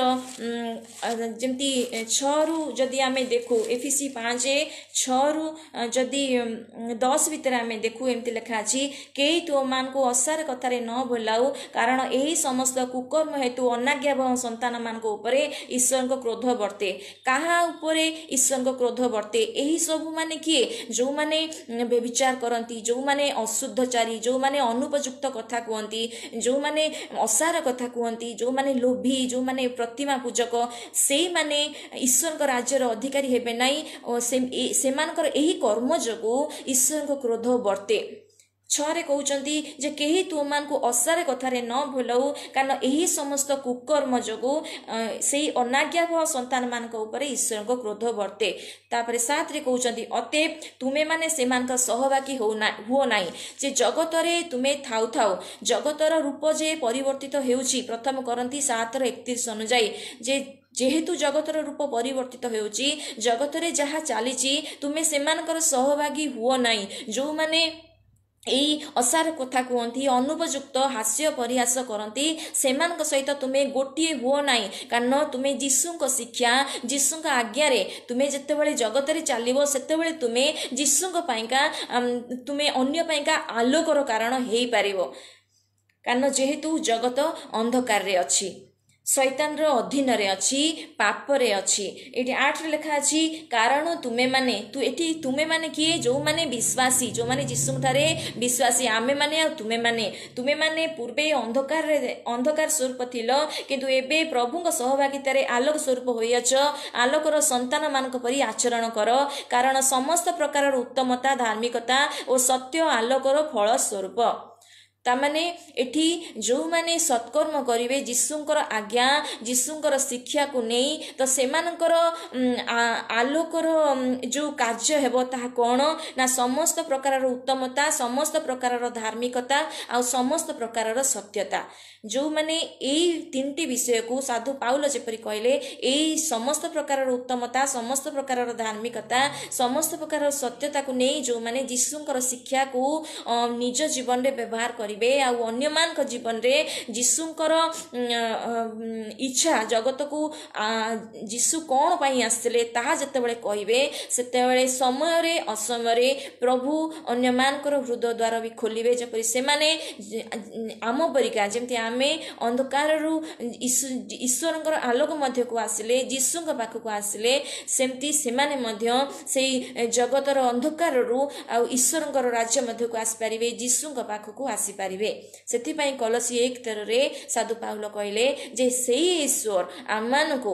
ଯେମିତି ଛଅରୁ ଯଦି ଆମେ ଦେଖୁ, ଏଫିସି ପାଞ୍ଚ ଛଅରୁ ଯଦି ଦଶ ଭିତରେ ଆମେ ଦେଖୁ, ଏମିତି ଲେଖା ଅଛି, କେହି ତୁମମାନଙ୍କୁ ଅସାର କଥାରେ ନ ଭୁଲାଉ, କାରଣ ଏହି ସମସ୍ତ କୁକର୍ମ ହେତୁ ଅନାଜ୍ଞାବହ ସନ୍ତାନମାନଙ୍କ ଉପରେ ଈଶ୍ୱରଙ୍କ କ୍ରୋଧ ବର୍ତ୍ତେ। କାହା ଉପରେ ଈଶ୍ୱରଙ୍କ କ୍ରୋଧ ବର୍ତ୍ତେ? ଏହି ସବୁ ମାନେ କିଏ? ଯେଉଁମାନେ ବ୍ୟଭିଚାର କରନ୍ତି, ଯେଉଁମାନେ ଅଶୁଦ୍ଧଚାରୀ, ଯେଉଁମାନେ ଅନୁପଯୁକ୍ତ କଥା କୁହନ୍ତି, ଯେଉଁମାନେ ଅସାର କଥା କୁହନ୍ତି, ଯେଉଁମାନେ ଲୋଭୀ, ଯେଉଁମାନେ ପ୍ରତିମା ପୂଜକ, ସେଇମାନେ ଈଶ୍ୱରଙ୍କ ରାଜ୍ୟର ଅଧିକାରୀ ହେବେ ନାହିଁ ଓ ସେମାନଙ୍କର ଏହି କର୍ମ ଯୋଗୁଁ ଈଶ୍ୱରଙ୍କ କ୍ରୋଧ ବର୍ତ୍ତେ। ଛଅରେ କହୁଛନ୍ତି ଯେ କେହି ତୁମମାନଙ୍କୁ ଅସାର କଥାରେ ନ ଭୁଲାଉ, କାରଣ ଏହି ସମସ୍ତ କୁକର୍ମ ଯୋଗୁଁ ସେଇ ଅନାଜ୍ଞାବହ ସନ୍ତାନମାନଙ୍କ ଉପରେ ଈଶ୍ୱରଙ୍କ କ୍ରୋଧ ବର୍ତ୍ତେ। ତାପରେ ସାତରେ କହୁଛନ୍ତି, ଅତଏବ ତୁମେମାନେ ସେମାନଙ୍କ ସହଭାଗୀ ହଉନା ହୁଅ ନାହିଁ, ଯେ ଜଗତରେ ତୁମେ ଥାଉ ଥାଉ ଜଗତର ରୂପ ଯେ ପରିବର୍ତ୍ତିତ ହେଉଛି। ପ୍ରଥମ କରନ୍ତି ସାତର ଏକତିରିଶ ଅନୁଯାୟୀ ଯେ ଯେହେତୁ ଜଗତର ରୂପ ପରିବର୍ତ୍ତିତ ହେଉଛି, ଜଗତରେ ଯାହା ଚାଲିଛି, ତୁମେ ସେମାନଙ୍କର ସହଭାଗୀ ହୁଅ ନାହିଁ, ଯେଉଁମାନେ ଏଇ ଅସାର କଥା କୁହନ୍ତି, ଅନୁପଯୁକ୍ତ ହାସ୍ୟ ପରିହାସ କରନ୍ତି, ସେମାନଙ୍କ ସହିତ ତୁମେ ଗୋଟିଏ ହୁଅ ନାହିଁ। କାରଣ ତୁମେ ଯୀଶୁଙ୍କ ଶିକ୍ଷା, ଯୀଶୁଙ୍କ ଆଜ୍ଞାରେ ତୁମେ ଯେତେବେଳେ ଜଗତରେ ଚାଲିବ, ସେତେବେଳେ ତୁମେ ଯୀଶୁଙ୍କ ପାଇଁକା, ତୁମେ ଅନ୍ୟ ପାଇଁକା ଆଲୋକର କାରଣ ହେଇପାରିବ। କାରଣ ଯେହେତୁ ଜଗତ ଅନ୍ଧକାରରେ ଅଛି। ଶୈତାନର ଅଧୀନରେ ଅଛି, ପାପରେ ଅଛି। ଏଠି ଆଠରେ ଲେଖା ଅଛି, କାରଣ ତୁମେମାନେ, ତୁ ଏଠି ତୁମେମାନେ କିଏ? ଯେଉଁମାନେ ବିଶ୍ୱାସୀ, ଯେଉଁମାନେ ଯୀଶୁଙ୍କଠାରେ ବିଶ୍ୱାସୀ, ଆମେମାନେ ଆଉ ତୁମେମାନେ। ତୁମେମାନେ ପୂର୍ବେ ଅନ୍ଧକାରରେ ଅନ୍ଧକାର ସ୍ୱରୂପ ଥିଲ, କିନ୍ତୁ ଏବେ ପ୍ରଭୁଙ୍କ ସହଭାଗିତାରେ ଆଲୋକ ସ୍ୱରୂପ ହୋଇଅଛ। ଆଲୋକର ସନ୍ତାନମାନଙ୍କ ପରି ଆଚରଣ କର, କାରଣ ସମସ୍ତ ପ୍ରକାରର ଉତ୍ତମତା, ଧାର୍ମିକତା ଓ ସତ୍ୟ ଆଲୋକର ଫଳ ସ୍ୱରୂପ। ତାମାନେ ଏଠି ଯେଉଁମାନେ ସତ୍କର୍ମ କରିବେ ଯୀଶୁଙ୍କର ଆଜ୍ଞା, ଯୀଶୁଙ୍କର ଶିକ୍ଷାକୁ ନେଇ, ତ ସେମାନଙ୍କର ଆଲୋକର ଯେଉଁ କାର୍ଯ୍ୟ ହେବ ତାହା କ'ଣ ନା ସମସ୍ତ ପ୍ରକାରର ଉତ୍ତମତା, ସମସ୍ତ ପ୍ରକାରର ଧାର୍ମିକତା ଆଉ ସମସ୍ତ ପ୍ରକାରର ସତ୍ୟତା। ଯେଉଁମାନେ ଏଇ ତିନିଟି ବିଷୟକୁ, ସାଧୁ ପାଉଲ ଯେପରି କହିଲେ, ଏଇ ସମସ୍ତ ପ୍ରକାରର ଉତ୍ତମତା, ସମସ୍ତ ପ୍ରକାରର ଧାର୍ମିକତା, ସମସ୍ତ ପ୍ରକାରର ସତ୍ୟତାକୁ ନେଇ ଯେଉଁମାନେ ଯୀଶୁଙ୍କର ଶିକ୍ଷାକୁ ନିଜ ଜୀବନରେ ବ୍ୟବହାର କରିବେ ଆଉ ଅନ୍ୟମାନଙ୍କ ଜୀବନରେ ଯୀଶୁଙ୍କର ଇଚ୍ଛା, ଜଗତକୁ ଯୀଶୁ କ'ଣ ପାଇଁ ଆସିଥିଲେ ତାହା ଯେତେବେଳେ କହିବେ, ସେତେବେଳେ ସମୟରେ ଅସମୟରେ ପ୍ରଭୁ ଅନ୍ୟମାନଙ୍କର ହୃଦୟ ଦ୍ୱାର ବି ଖୋଲିବେ, ଯେପରି ସେମାନେ ଆମ ପରିକା, ଯେମିତି ଆମେ ଅନ୍ଧକାରରୁ ଈଶ୍ୱରଙ୍କର ଆଲୋକ ମଧ୍ୟକୁ ଆସିଲେ, ଯୀଶୁଙ୍କ ପାଖକୁ ଆସିଲେ, ସେମିତି ସେମାନେ ମଧ୍ୟ ସେଇ ଜଗତର ଅନ୍ଧକାରରୁ ଆଉ ଈଶ୍ୱରଙ୍କର ରାଜ୍ୟ ମଧ୍ୟକୁ ଆସିପାରିବେ, ଯୀଶୁଙ୍କ ପାଖକୁ ଆସିପାରିବେ। ସେଥିପାଇଁ କଲସୀ ଏକ ତେରରେ ସାଧୁ ପାଉଲ କହିଲେ ଯେ ସେଇ ଈଶ୍ୱର ଆମମାନଙ୍କୁ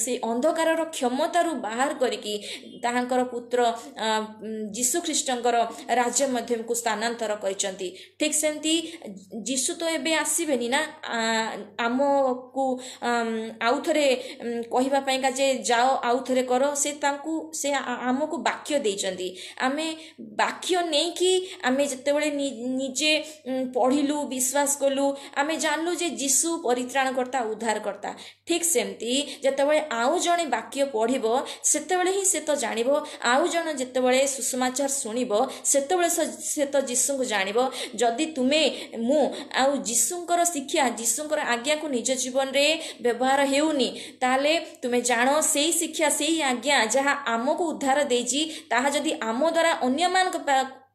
ସେଇ ଅନ୍ଧକାରର କ୍ଷମତାରୁ ବାହାର କରିକି ତାହାଙ୍କର ପୁତ୍ର ଯୀଶୁଖ୍ରୀଷ୍ଟଙ୍କର ରାଜ୍ୟ ମଧ୍ୟକୁ ସ୍ଥାନାନ୍ତର କରିଛନ୍ତି। ଠିକ୍ ସେମିତି ଯୀଶୁ ତ ଏବେ ଆସିବେନି ନା ଆମକୁ ଆଉ ଥରେ କହିବା ପାଇଁକା ଯେ ଯାଅ ଆଉ ଥରେ କର। ସେ ତାଙ୍କୁ ସେ ଆମକୁ ବାକ୍ୟ ଦେଇଛନ୍ତି। ଆମେ ବାକ୍ୟ ନେଇକି ଆମେ ଯେତେବେଳେ ନିଜେ ପଢ଼ିଲୁ, ବିଶ୍ୱାସ କଲୁ, ଆମେ ଜାଣିଲୁ ଯେ ଯୀଶୁ ପରିତ୍ରାଣକର୍ତ୍ତା, ଉଦ୍ଧାରକର୍ତ୍ତା। ଠିକ୍ ସେମିତି ଯେତେବେଳେ ଆଉ ଜଣେ ବାକ୍ୟ ପଢ଼ିବ ସେତେବେଳେ ହିଁ ସେ ତ ଜାଣିବ, ଆଉ ଜଣେ ଯେତେବେଳେ ସୁସମାଚାର ଶୁଣିବ ସେତେବେଳେ ସେ ତ ଯୀଶୁଙ୍କୁ ଜାଣିବ। ଯଦି ତୁମେ ମୁଁ ଆଉ ଯୀଶୁଙ୍କର ଶିକ୍ଷା, ଯୀଶୁଙ୍କର ଆଜ୍ଞାକୁ ନିଜ ଜୀବନରେ ବ୍ୟବହାର ହେଉନି, ତାହେଲେ ତୁମେ ଜାଣ ସେଇ ଶିକ୍ଷା, ସେଇ ଆଜ୍ଞା ଯାହା ଆମକୁ ଉଦ୍ଧାର ଦେଇଛି, ତାହା ଯଦି ଆମ ଦ୍ୱାରା ଅନ୍ୟମାନଙ୍କ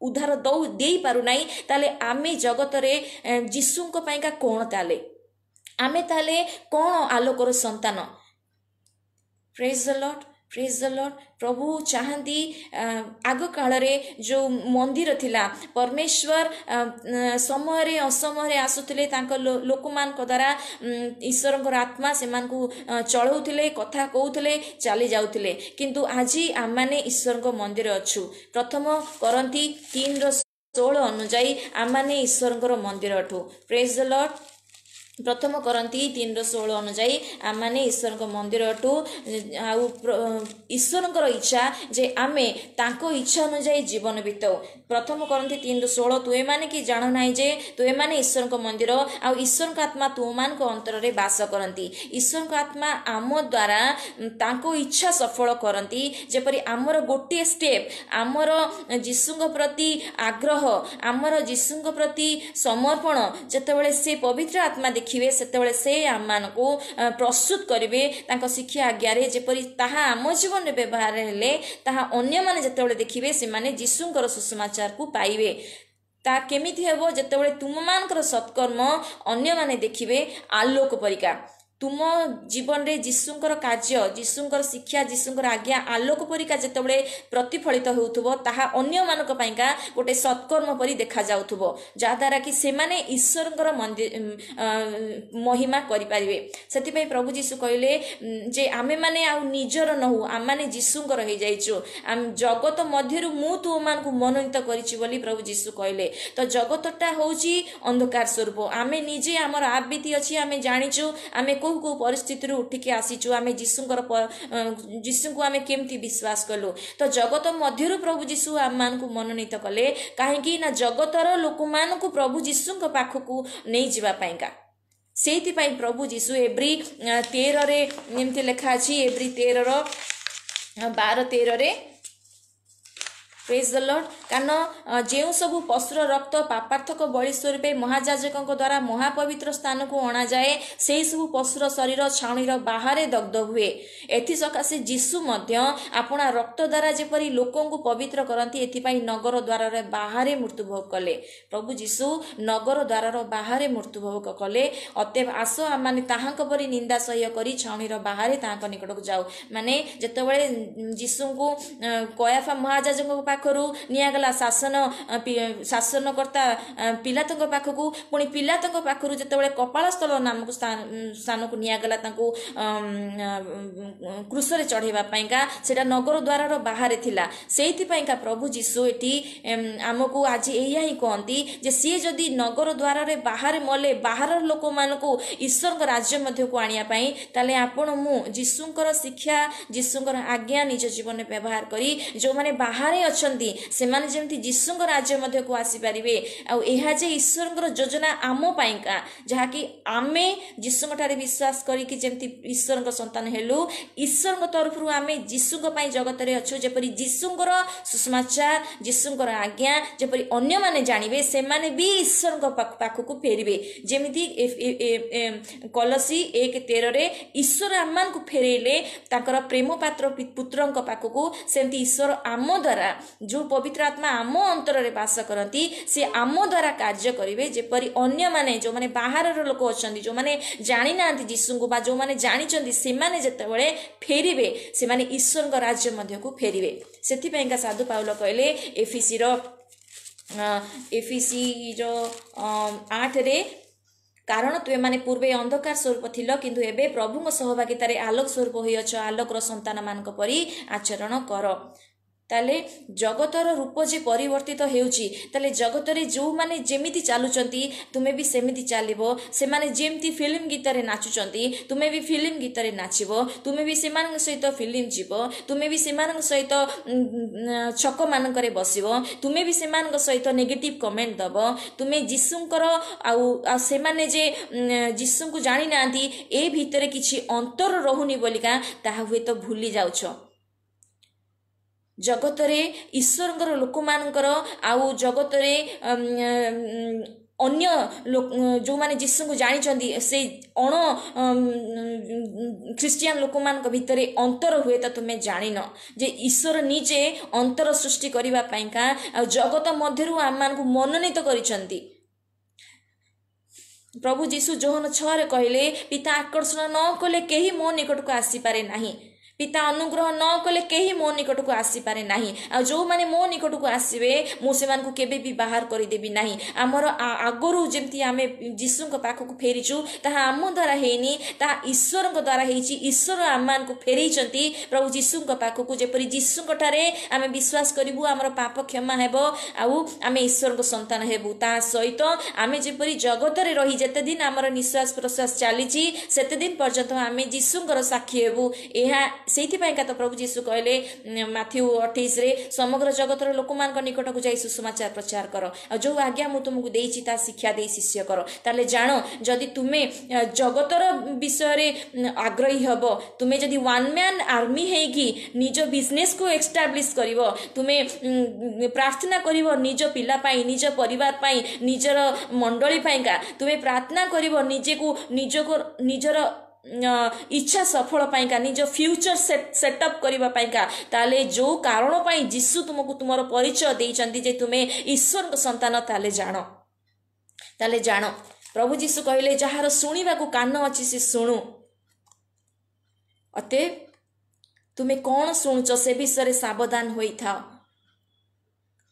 ଉଦ୍ଧାର ଦଉ ଦେଇପାରୁନାହିଁ, ତାହେଲେ ଆମେ ଜଗତରେ ଯୀଶୁଙ୍କ ପାଇଁକା କ'ଣ? ତାହେଲେ ଆମେ ତାହେଲେ କ'ଣ ଆଲୋକର ସନ୍ତାନ? Praise the Lord, praise the Lord. ପ୍ରଭୁ ଚାହାନ୍ତି, ଆଗ କାଳରେ ଯେଉଁ ମନ୍ଦିର ଥିଲା, ପରମେଶ୍ୱର ସମୟରେ ଅସମୟରେ ଆସୁଥିଲେ, ତାଙ୍କ ଲୋକମାନଙ୍କ ଦ୍ୱାରା ଈଶ୍ୱରଙ୍କର ଆତ୍ମା ସେମାନଙ୍କୁ ଚଳାଉଥିଲେ, କଥା କହୁଥିଲେ, ଚାଲି ଯାଉଥିଲେ। କିନ୍ତୁ ଆଜି ଆମମାନେ ଈଶ୍ୱରଙ୍କ ମନ୍ଦିର ଅଛୁ। ପ୍ରଥମ କରିନ୍ଥୀ ତିନିର ଷୋହଳ ଅନୁଯାୟୀ ଆମମାନେ ଈଶ୍ୱରଙ୍କର ମନ୍ଦିର ଅଟୁ। Praise the Lord. ପ୍ରଥମ କରିନ୍ଥୀ ତିନିର ଷୋହଳ ଅନୁଯାୟୀ ଆମମାନେ ଈଶ୍ୱରଙ୍କ ମନ୍ଦିର ଅଟୁ। ଆଉ ଈଶ୍ୱରଙ୍କର ଇଚ୍ଛା ଯେ ଆମେ ତାଙ୍କ ଇଚ୍ଛା ଅନୁଯାୟୀ ଜୀବନ ବିତାଉ। ପ୍ରଥମ କରିନ୍ଥୀ ତିନିର ଷୋହଳ, ତୁମେମାନେ କି ଜାଣ ନାହିଁ ଯେ ତୁମେମାନେ ଈଶ୍ୱରଙ୍କ ମନ୍ଦିର ଆଉ ଈଶ୍ୱରଙ୍କ ଆତ୍ମା ତୁମମାନଙ୍କ ଅନ୍ତରରେ ବାସ କରନ୍ତି? ଈଶ୍ୱରଙ୍କ ଆତ୍ମା ଆମ ଦ୍ୱାରା ତାଙ୍କ ଇଚ୍ଛା ସଫଳ କରନ୍ତି। ଯେପରି ଆମର ଗୋଟିଏ ଷ୍ଟେପ୍, ଆମର ଯୀଶୁଙ୍କ ପ୍ରତି ଆଗ୍ରହ, ଆମର ଯୀଶୁଙ୍କ ପ୍ରତି ସମର୍ପଣ, ଯେତେବେଳେ ସେ ପବିତ୍ର ଆତ୍ମା ଦେଖିବେ ସେତେବେଳେ ସେ ଆମମାନଙ୍କୁ ପ୍ରସ୍ତୁତ କରିବେ ତାଙ୍କ ଶିକ୍ଷା ଆଜ୍ଞାରେ, ଯେପରି ତାହା ଆମ ଜୀବନରେ ବ୍ୟବହାର ହେଲେ ତାହା ଅନ୍ୟମାନେ ଯେତେବେଳେ ଦେଖିବେ ସେମାନେ ଯୀଶୁଙ୍କର ସୁସମାଚାରକୁ ପାଇବେ। ତା କେମିତି ହେବ? ଯେତେବେଳେ ତୁମମାନଙ୍କର ସତ୍କର୍ମ ଅନ୍ୟମାନେ ଦେଖିବେ ଆଲୋକ ପରିକା। ତୁମ ଜୀବନରେ ଯୀଶୁଙ୍କର କାର୍ଯ୍ୟ, ଯୀଶୁଙ୍କର ଶିକ୍ଷା, ଯୀଶୁଙ୍କର ଆଜ୍ଞା ଆଲୋକ ପରିକା ଯେତେବେଳେ ପ୍ରତିଫଳିତ ହେଉଥିବ, ତାହା ଅନ୍ୟମାନଙ୍କ ପାଇଁକା ଗୋଟେ ସତ୍କର୍ମ ପରି ଦେଖାଯାଉଥିବ, ଯାହାଦ୍ୱାରା କି ସେମାନେ ଈଶ୍ୱରଙ୍କର ମନ୍ଦିର ମହିମା କରିପାରିବେ। ସେଥିପାଇଁ ପ୍ରଭୁ ଯୀଶୁ କହିଲେ ଯେ ଆମେମାନେ ଆଉ ନିଜର ନହୁ, ଆମମାନେ ଯୀଶୁଙ୍କର ହେଇଯାଇଛୁ। ଜଗତ ମଧ୍ୟରୁ ମୁଁ ତୁମମାନଙ୍କୁ ମନୋନୀତ କରିଛି ବୋଲି ପ୍ରଭୁ ଯୀଶୁ କହିଲେ। ତ ଜଗତଟା ହେଉଛି ଅନ୍ଧକାର ସ୍ୱରୂପ। ଆମେ ନିଜେ ଆମର ଆବୃତ୍ତି ଅଛି, ଆମେ ଜାଣିଛୁ ଆମେ କେଉଁ କେଉଁ ପରିସ୍ଥିତିରୁ ଉଠିକି ଆସିଛୁ, ଆମେ ଯୀଶୁଙ୍କର ଯୀଶୁଙ୍କୁ ଆମେ କେମିତି ବିଶ୍ୱାସ କଲୁ। ତ ଜଗତ ମଧ୍ୟରୁ ପ୍ରଭୁ ଯୀଶୁ ଆମମାନଙ୍କୁ ମନୋନୀତ କଲେ, କାହିଁକି ନା ଜଗତର ଲୋକମାନଙ୍କୁ ପ୍ରଭୁ ଯୀଶୁଙ୍କ ପାଖକୁ ନେଇଯିବା ପାଇଁକା। ସେଇଥିପାଇଁ ପ୍ରଭୁ ଯୀଶୁ ଏବ୍ରୀ ତେରରେ ଏମିତି ଲେଖା ଅଛି, ଏବ୍ରୀ ତେରର ବାର ତେରରେ, ପ୍ରେଜ୍ ଦ ଲର୍ଡ। କାରଣ ଯେଉଁ ସବୁ ପଶୁର ରକ୍ତ ପାପାର୍ଥକ ବଳି ସ୍ୱରୂପେ ମହାଯାଜକଙ୍କ ଦ୍ୱାରା ମହାପବିତ୍ର ସ୍ଥାନକୁ ଅଣାଯାଏ, ସେହି ସବୁ ପଶୁର ଶରୀର ଛାଉଣିର ବାହାରେ ଦଗ୍ଧ ହୁଏ। ଏଥିସକାଶେ ଯୀଶୁ ମଧ୍ୟ ଆପଣା ରକ୍ତ ଦ୍ୱାରା ଯେପରି ଲୋକଙ୍କୁ ପବିତ୍ର କରନ୍ତି, ଏଥିପାଇଁ ନଗର ଦ୍ୱାରରେ ବାହାରେ ମୃତ୍ୟୁଭୋଗ କଲେ। ପ୍ରଭୁ ଯୀଶୁ ନଗର ଦ୍ୱାରର ବାହାରେ ମୃତ୍ୟୁଭୋଗ କଲେ। ଅତଏବ ଆସ, ଆମମାନେ ତାହାଙ୍କ ପରି ନିନ୍ଦା ସହ୍ୟ କରି ଛାଉଣିର ବାହାରେ ତାହାଙ୍କ ନିକଟକୁ ଯାଉ। ମାନେ ଯେତେବେଳେ ଯୀଶୁଙ୍କୁ କୟାଫା ମହାଯାଜକଙ୍କ ପାଖରୁ ନିଆଗଲା ଶାସନ ଶାସନକର୍ତ୍ତା ପିଲାତଙ୍କ ପାଖକୁ, ପୁଣି ପିଲାତଙ୍କ ପାଖରୁ ଯେତେବେଳେ କପାଳସ୍ଥଳ ନାମକ ସ୍ଥାନକୁ ନିଆଗଲା ତାଙ୍କୁ କ୍ରୁଶରେ ଚଢ଼େଇବା ପାଇଁକା, ସେଇଟା ନଗର ଦ୍ୱାରର ବାହାରେ ଥିଲା। ସେଇଥିପାଇଁକା ପ୍ରଭୁ ଯୀଶୁ ଏଠି ଆମକୁ ଆଜି ଏଇଆ ହିଁ କହନ୍ତି ଯେ ସିଏ ଯଦି ନଗର ଦ୍ୱାରରେ ବାହାରେ ମଲେ ବାହାରର ଲୋକମାନଙ୍କୁ ଈଶ୍ୱରଙ୍କ ରାଜ୍ୟ ମଧ୍ୟକୁ ଆଣିବା ପାଇଁ, ତାହେଲେ ଆପଣ ମୁଁ ଯୀଶୁଙ୍କର ଶିକ୍ଷା, ଯୀଶୁଙ୍କର ଆଜ୍ଞା ନିଜ ଜୀବନରେ ବ୍ୟବହାର କରି ଯେଉଁମାନେ ବାହାରେ ଅଛନ୍ତି ସେମାନେ ଯେମିତି ଯୀଶୁଙ୍କ ରାଜ୍ୟ ମଧ୍ୟକୁ ଆସିପାରିବେ। ଆଉ ଏହା ଯେ ଈଶ୍ୱରଙ୍କର ଯୋଜନା ଆମ ପାଇଁକା, ଯାହାକି ଆମେ ଯୀଶୁଙ୍କ ଠାରେ ବିଶ୍ୱାସ କରିକି ଯେମିତି ଈଶ୍ୱରଙ୍କ ସନ୍ତାନ ହେଲୁ, ଈଶ୍ୱରଙ୍କ ତରଫରୁ ଆମେ ଯୀଶୁଙ୍କ ପାଇଁ ଜଗତରେ ଅଛୁ, ଯେପରି ଯୀଶୁଙ୍କର ସୁସମାଚାର, ଯୀଶୁଙ୍କର ଆଜ୍ଞା ଯେପରି ଅନ୍ୟମାନେ ଜାଣିବେ, ସେମାନେ ବି ଈଶ୍ୱରଙ୍କ ପାଖକୁ ଫେରିବେ। ଯେମିତି କଲସୀ ଏକ ତେରରେ ଈଶ୍ୱର ଆମମାନଙ୍କୁ ଫେରେଇଲେ ତାଙ୍କର ପ୍ରେମ ପାତ୍ର ପୁତ୍ରଙ୍କ ପାଖକୁ, ସେମିତି ଈଶ୍ୱର ଆମ ଦ୍ୱାରା ଯେଉଁ ପବିତ୍ର ଆତ୍ମା ଆମ ଅନ୍ତରରେ ବାସ କରନ୍ତି, ସେ ଆମ ଦ୍ୱାରା କାର୍ଯ୍ୟ କରିବେ, ଯେପରି ଅନ୍ୟମାନେ ଯେଉଁମାନେ ବାହାରର ଲୋକ ଅଛନ୍ତି, ଯେଉଁମାନେ ଜାଣିନାହାନ୍ତି ଯୀଶୁଙ୍କୁ ବା ଯେଉଁମାନେ ଜାଣିଛନ୍ତି, ସେମାନେ ଯେତେବେଳେ ଫେରିବେ ସେମାନେ ଈଶ୍ୱରଙ୍କ ରାଜ୍ୟ ମଧ୍ୟକୁ ଫେରିବେ। ସେଥିପାଇଁକା ସାଧୁ ପାଉଲ କହିଲେ ଏଫିସିର ଏଫିସିର ଆଠରେ, କାରଣ ତୁମେମାନେ ପୂର୍ବେ ଅନ୍ଧକାର ସ୍ୱରୂପ ଥିଲ, କିନ୍ତୁ ଏବେ ପ୍ରଭୁଙ୍କ ସହଭାଗିତାରେ ଆଲୋକ ସ୍ୱରୂପ ହୋଇଅଛ, ଆଲୋକର ସନ୍ତାନମାନଙ୍କ ପରି ଆଚରଣ କର। ତାହେଲେ ଜଗତର ରୂପ ଯେ ପରିବର୍ତ୍ତିତ ହେଉଛି, ତାହେଲେ ଜଗତରେ ଯେଉଁମାନେ ଯେମିତି ଚାଲୁଛନ୍ତି ତୁମେ ବି ସେମିତି ଚାଲିବ। ସେମାନେ ଯେମିତି ଫିଲ୍ମ ଗୀତରେ ନାଚୁଛନ୍ତି ତୁମେ ବି ଫିଲ୍ମ ଗୀତରେ ନାଚିବ, ତୁମେ ବି ସେମାନଙ୍କ ସହିତ ଫିଲ୍ମ ଯିବ, ତୁମେ ବି ସେମାନଙ୍କ ସହିତ ଛକମାନଙ୍କରେ ବସିବ, ତୁମେ ବି ସେମାନଙ୍କ ସହିତ ନେଗେଟିଭ୍ କମେଣ୍ଟ ଦେବ। ତୁମେ ଯୀଶୁଙ୍କର ଆଉ ଆଉ ସେମାନେ ଯେ ଯୀଶୁଙ୍କୁ ଜାଣିନାହାନ୍ତି ଏ ଭିତରେ କିଛି ଅନ୍ତର ରହୁନି ବୋଲିକା ତାହା ହୁଏତ ଭୁଲି ଯାଉଛ। ଜଗତରେ ଈଶ୍ୱରଙ୍କର ଲୋକମାନଙ୍କର ଆଉ ଜଗତରେ ଅନ୍ୟ ଯେଉଁମାନେ ଯୀଶୁଙ୍କୁ ଜାଣିଛନ୍ତି ସେଇ ଅଣ ଖ୍ରୀଷ୍ଟିଆନ ଲୋକମାନଙ୍କ ଭିତରେ ଅନ୍ତର ହୁଏତ ତୁମେ ଜାଣିନ ଯେ ଈଶ୍ୱର ନିଜେ ଅନ୍ତର ସୃଷ୍ଟି କରିବା ପାଇଁକା ଆଉ ଜଗତ ମଧ୍ୟରୁ ଆମମାନଙ୍କୁ ମନୋନୀତ କରିଛନ୍ତି। ପ୍ରଭୁ ଯୀଶୁ ଯୋହନ ଛଅରେ କହିଲେ, ପିତା ଆକର୍ଷଣ ନ କଲେ କେହି ମୋ ନିକଟକୁ ଆସିପାରେ ନାହିଁ, ପିତା ଅନୁଗ୍ରହ ନ କଲେ କେହି ମୋ ନିକଟକୁ ଆସିପାରେ ନାହିଁ, ଆଉ ଯେଉଁମାନେ ମୋ ନିକଟକୁ ଆସିବେ ମୁଁ ସେମାନଙ୍କୁ କେବେ ବି ବାହାର କରିଦେବି ନାହିଁ। ଆମର ଆଗରୁ ଯେମିତି ଆମେ ଯୀଶୁଙ୍କ ପାଖକୁ ଫେରିଛୁ ତାହା ଆମ ଦ୍ୱାରା ହେଇନି, ତାହା ଈଶ୍ୱରଙ୍କ ଦ୍ୱାରା ହେଇଛି। ଈଶ୍ୱର ଆମମାନଙ୍କୁ ଫେରେଇଛନ୍ତି ପ୍ରଭୁ ଯୀଶୁଙ୍କ ପାଖକୁ, ଯେପରି ଯୀଶୁଙ୍କ ଠାରେ ଆମେ ବିଶ୍ୱାସ କରିବୁ ଆମର ପାପ କ୍ଷମା ହେବ ଆଉ ଆମେ ଈଶ୍ୱରଙ୍କ ସନ୍ତାନ ହେବୁ। ତା ସହିତ ଆମେ ଯେପରି ଜଗତରେ ରହି ଯେତେ ଦିନ ଆମର ନିଶ୍ୱାସ ପ୍ରଶ୍ୱାସ ଚାଲିଛି ସେତେ ଦିନ ପର୍ଯ୍ୟନ୍ତ ଆମେ ଯୀଶୁଙ୍କର ସାକ୍ଷୀ ହେବୁ। ଏହା ସେଇଥିପାଇଁକା ତ ପ୍ରଭୁ ଯୀଶୁ କହିଲେ ମାଥ୍ୟୁ ଅଠେଇଶରେ, ସମଗ୍ର ଜଗତର ଲୋକମାନଙ୍କ ନିକଟକୁ ଯାଇ ସୁସମାଚାର ପ୍ରଚାର କର, ଆଉ ଯେଉଁ ଆଜ୍ଞା ମୁଁ ତୁମକୁ ଦେଇଛି ତା ଶିକ୍ଷା ଦେଇ ଶିଷ୍ୟ କର। ତାହେଲେ ଜାଣ, ଯଦି ତୁମେ ଜଗତର ବିଷୟରେ ଆଗ୍ରହୀ ହେବ, ତୁମେ ଯଦି ୱାନ୍ ମ୍ୟାନ୍ ଆର୍ମି ହେଇକି ନିଜ ବିଜନେସକୁ ଏଷ୍ଟାବ୍ଲିଶ କରିବ, ତୁମେ ପ୍ରାର୍ଥନା କରିବ ନିଜ ପିଲା ପାଇଁ, ନିଜ ପରିବାର ପାଇଁ, ନିଜର ମଣ୍ଡଳୀ ପାଇଁକା, ତୁମେ ପ୍ରାର୍ଥନା କରିବ ନିଜକୁ ନିଜକୁ ନିଜର ଇଚ୍ଛା ସଫଳ ପାଇଁକା, ନିଜ ଫ୍ୟୁଚର ସେଟଅପ୍ କରିବା ପାଇଁକା, ତାହେଲେ ଯେଉଁ କାରଣ ପାଇଁ ଯୀଶୁ ତୁମକୁ ତୁମର ପରିଚୟ ଦେଇଛନ୍ତି ଯେ ତୁମେ ଈଶ୍ୱରଙ୍କ ସନ୍ତାନ, ତାହେଲେ ଜାଣ ତାହେଲେ ଜାଣ ପ୍ରଭୁ ଯୀଶୁ କହିଲେ ଯାହାର ଶୁଣିବାକୁ କାନ ଅଛି ସେ ଶୁଣୁ। ଅତଏବ ତୁମେ କ'ଣ ଶୁଣୁଛ ସେ ବିଷୟରେ ସାବଧାନ ହୋଇଥାଅ,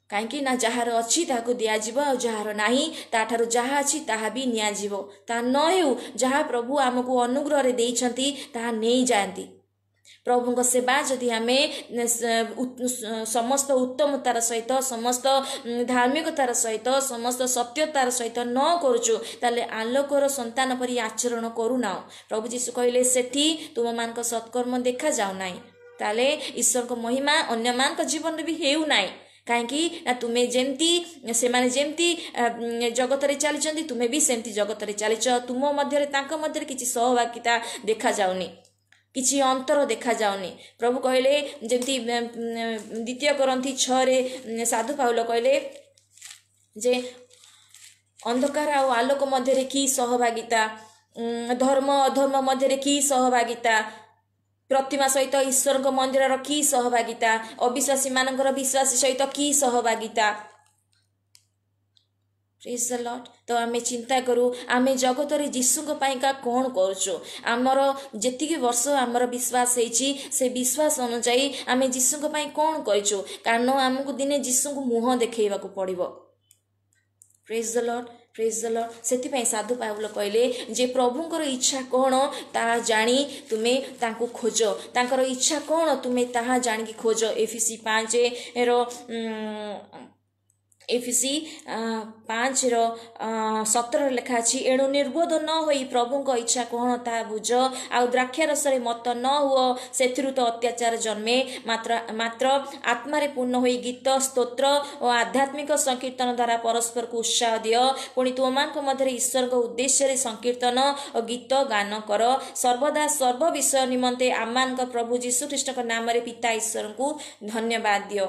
କାହିଁକି ନା ଯାହାର ଅଛି ତାହାକୁ ଦିଆଯିବ, ଆଉ ଯାହାର ନାହିଁ ତାଠାରୁ ଯାହା ଅଛି ତାହା ବି ନିଆଯିବ। ତାହା ନ ହେଉ, ଯାହା ପ୍ରଭୁ ଆମକୁ ଅନୁଗ୍ରହରେ ଦେଇଛନ୍ତି ତାହା ନେଇଯାଆନ୍ତି। ପ୍ରଭୁଙ୍କ ସେବା ଯଦି ଆମେ ସମସ୍ତ ଉତ୍ତମତାର ସହିତ, ସମସ୍ତ ଧାର୍ମିକତାର ସହିତ, ସମସ୍ତ ସତ୍ୟତାର ସହିତ ନ କରୁଛୁ, ତାହେଲେ ଆଲୋକର ସନ୍ତାନ ପରି ଆଚରଣ କରୁନାହୁଁ। ପ୍ରଭୁ ଯୀଶୁ କହିଲେ ସେଠି ତୁମମାନଙ୍କ ସତ୍କର୍ମ ଦେଖାଯାଉ ନାହିଁ, ତାହେଲେ ଈଶ୍ୱରଙ୍କ ମହିମା ଅନ୍ୟମାନଙ୍କ ଜୀବନରେ ବି ହେଉନାହିଁ। କାହିଁକି ନା ତୁମେ ଯେମିତି, ସେମାନେ ଯେମିତି ଜଗତରେ ଚାଲିଛନ୍ତି ତୁମେ ବି ସେମିତି ଜଗତରେ ଚାଲିଛ, ତୁମ ମଧ୍ୟରେ ତାଙ୍କ ମଧ୍ୟରେ କିଛି ସହଭାଗିତା ଦେଖାଯାଉନି। କିଛି ଅନ୍ତର ଦେଖାଯାଉନି। ପ୍ରଭୁ କହିଲେ, ଯେମିତି ଦ୍ୱିତୀୟ କରିନ୍ଥୀ ଛଅରେ ସାଧୁ ପାଉଲ କହିଲେ ଯେ ଅନ୍ଧକାର ଆଉ ଆଲୋକ ମଧ୍ୟରେ କି ସହଭାଗିତା, ଧର୍ମ ଅଧର୍ମ ମଧ୍ୟରେ କି ସହଭାଗିତା, ପ୍ରତିମା ସହିତ ଈଶ୍ୱରଙ୍କ ମନ୍ଦିରର କି ସହଭାଗିତା, ଅବିଶ୍ୱାସୀ ମାନଙ୍କର ବିଶ୍ୱାସୀ ସହିତ କି ସହଭାଗିତା। Praise the Lord. ତ ଆମେ ଚିନ୍ତା କରୁ, ଆମେ ଜଗତରେ ଯୀଶୁଙ୍କ ପାଇଁକା କ'ଣ କରୁଛୁ? ଆମର ଯେତିକି ବର୍ଷ ଆମର ବିଶ୍ୱାସ ହେଇଛି, ସେ ବିଶ୍ୱାସ ଅନୁଯାୟୀ ଆମେ ଯୀଶୁଙ୍କ ପାଇଁ କ'ଣ କରିଛୁ? କାରଣ ଆମକୁ ଦିନେ ଯୀଶୁଙ୍କୁ ମୁହଁ ଦେଖେଇବାକୁ ପଡ଼ିବ। Praise the Lord, praise the Lord. ସେଥିପାଇଁ ସାଧୁ ପାଉଲ କହିଲେ ଯେ ପ୍ରଭୁଙ୍କର ଇଚ୍ଛା କ'ଣ ତାହା ଜାଣି ତୁମେ ତାଙ୍କୁ ଖୋଜ। ତାଙ୍କର ଇଚ୍ଛା କ'ଣ ତୁମେ ତାହା ଜାଣିକି ଖୋଜ। ଏଫିସି ପାଞ୍ଚର ଏଫିସି ପାଞ୍ଚର ସତରରେ ଲେଖା ଅଛି, ଏଣୁ ନିର୍ବୋଧ ନ ହୋଇ ପ୍ରଭୁଙ୍କ ଇଚ୍ଛା କ'ଣ ତାହା ବୁଝ, ଆଉ ଦ୍ରାକ୍ଷାରସରେ ମତ ନ ହୁଅ, ସେଥିରୁ ତ ଅତ୍ୟାଚାର ଜନ୍ମେ, ମାତ୍ର ମାତ୍ର ଆତ୍ମାରେ ପୂର୍ଣ୍ଣ ହୋଇ ଗୀତ, ସ୍ତୋତ୍ର ଓ ଆଧ୍ୟାତ୍ମିକ ସଂକୀର୍ତ୍ତନ ଦ୍ୱାରା ପରସ୍ପରକୁ ଉତ୍ସାହ ଦିଅ। ପୁଣି ତୁମମାନଙ୍କ ମଧ୍ୟରେ ଈଶ୍ୱରଙ୍କ ଉଦ୍ଦେଶ୍ୟରେ ସଂକୀର୍ତ୍ତନ ଓ ଗୀତ ଗାନ କର। ସର୍ବଦା ସର୍ବ ବିଷୟ ନିମନ୍ତେ ଆମମାନଙ୍କ ପ୍ରଭୁ ଯୀଶୁଖ୍ରୀଷ୍ଟଙ୍କ ନାମରେ ପିତା ଈଶ୍ୱରଙ୍କୁ ଧନ୍ୟବାଦ ଦିଅ।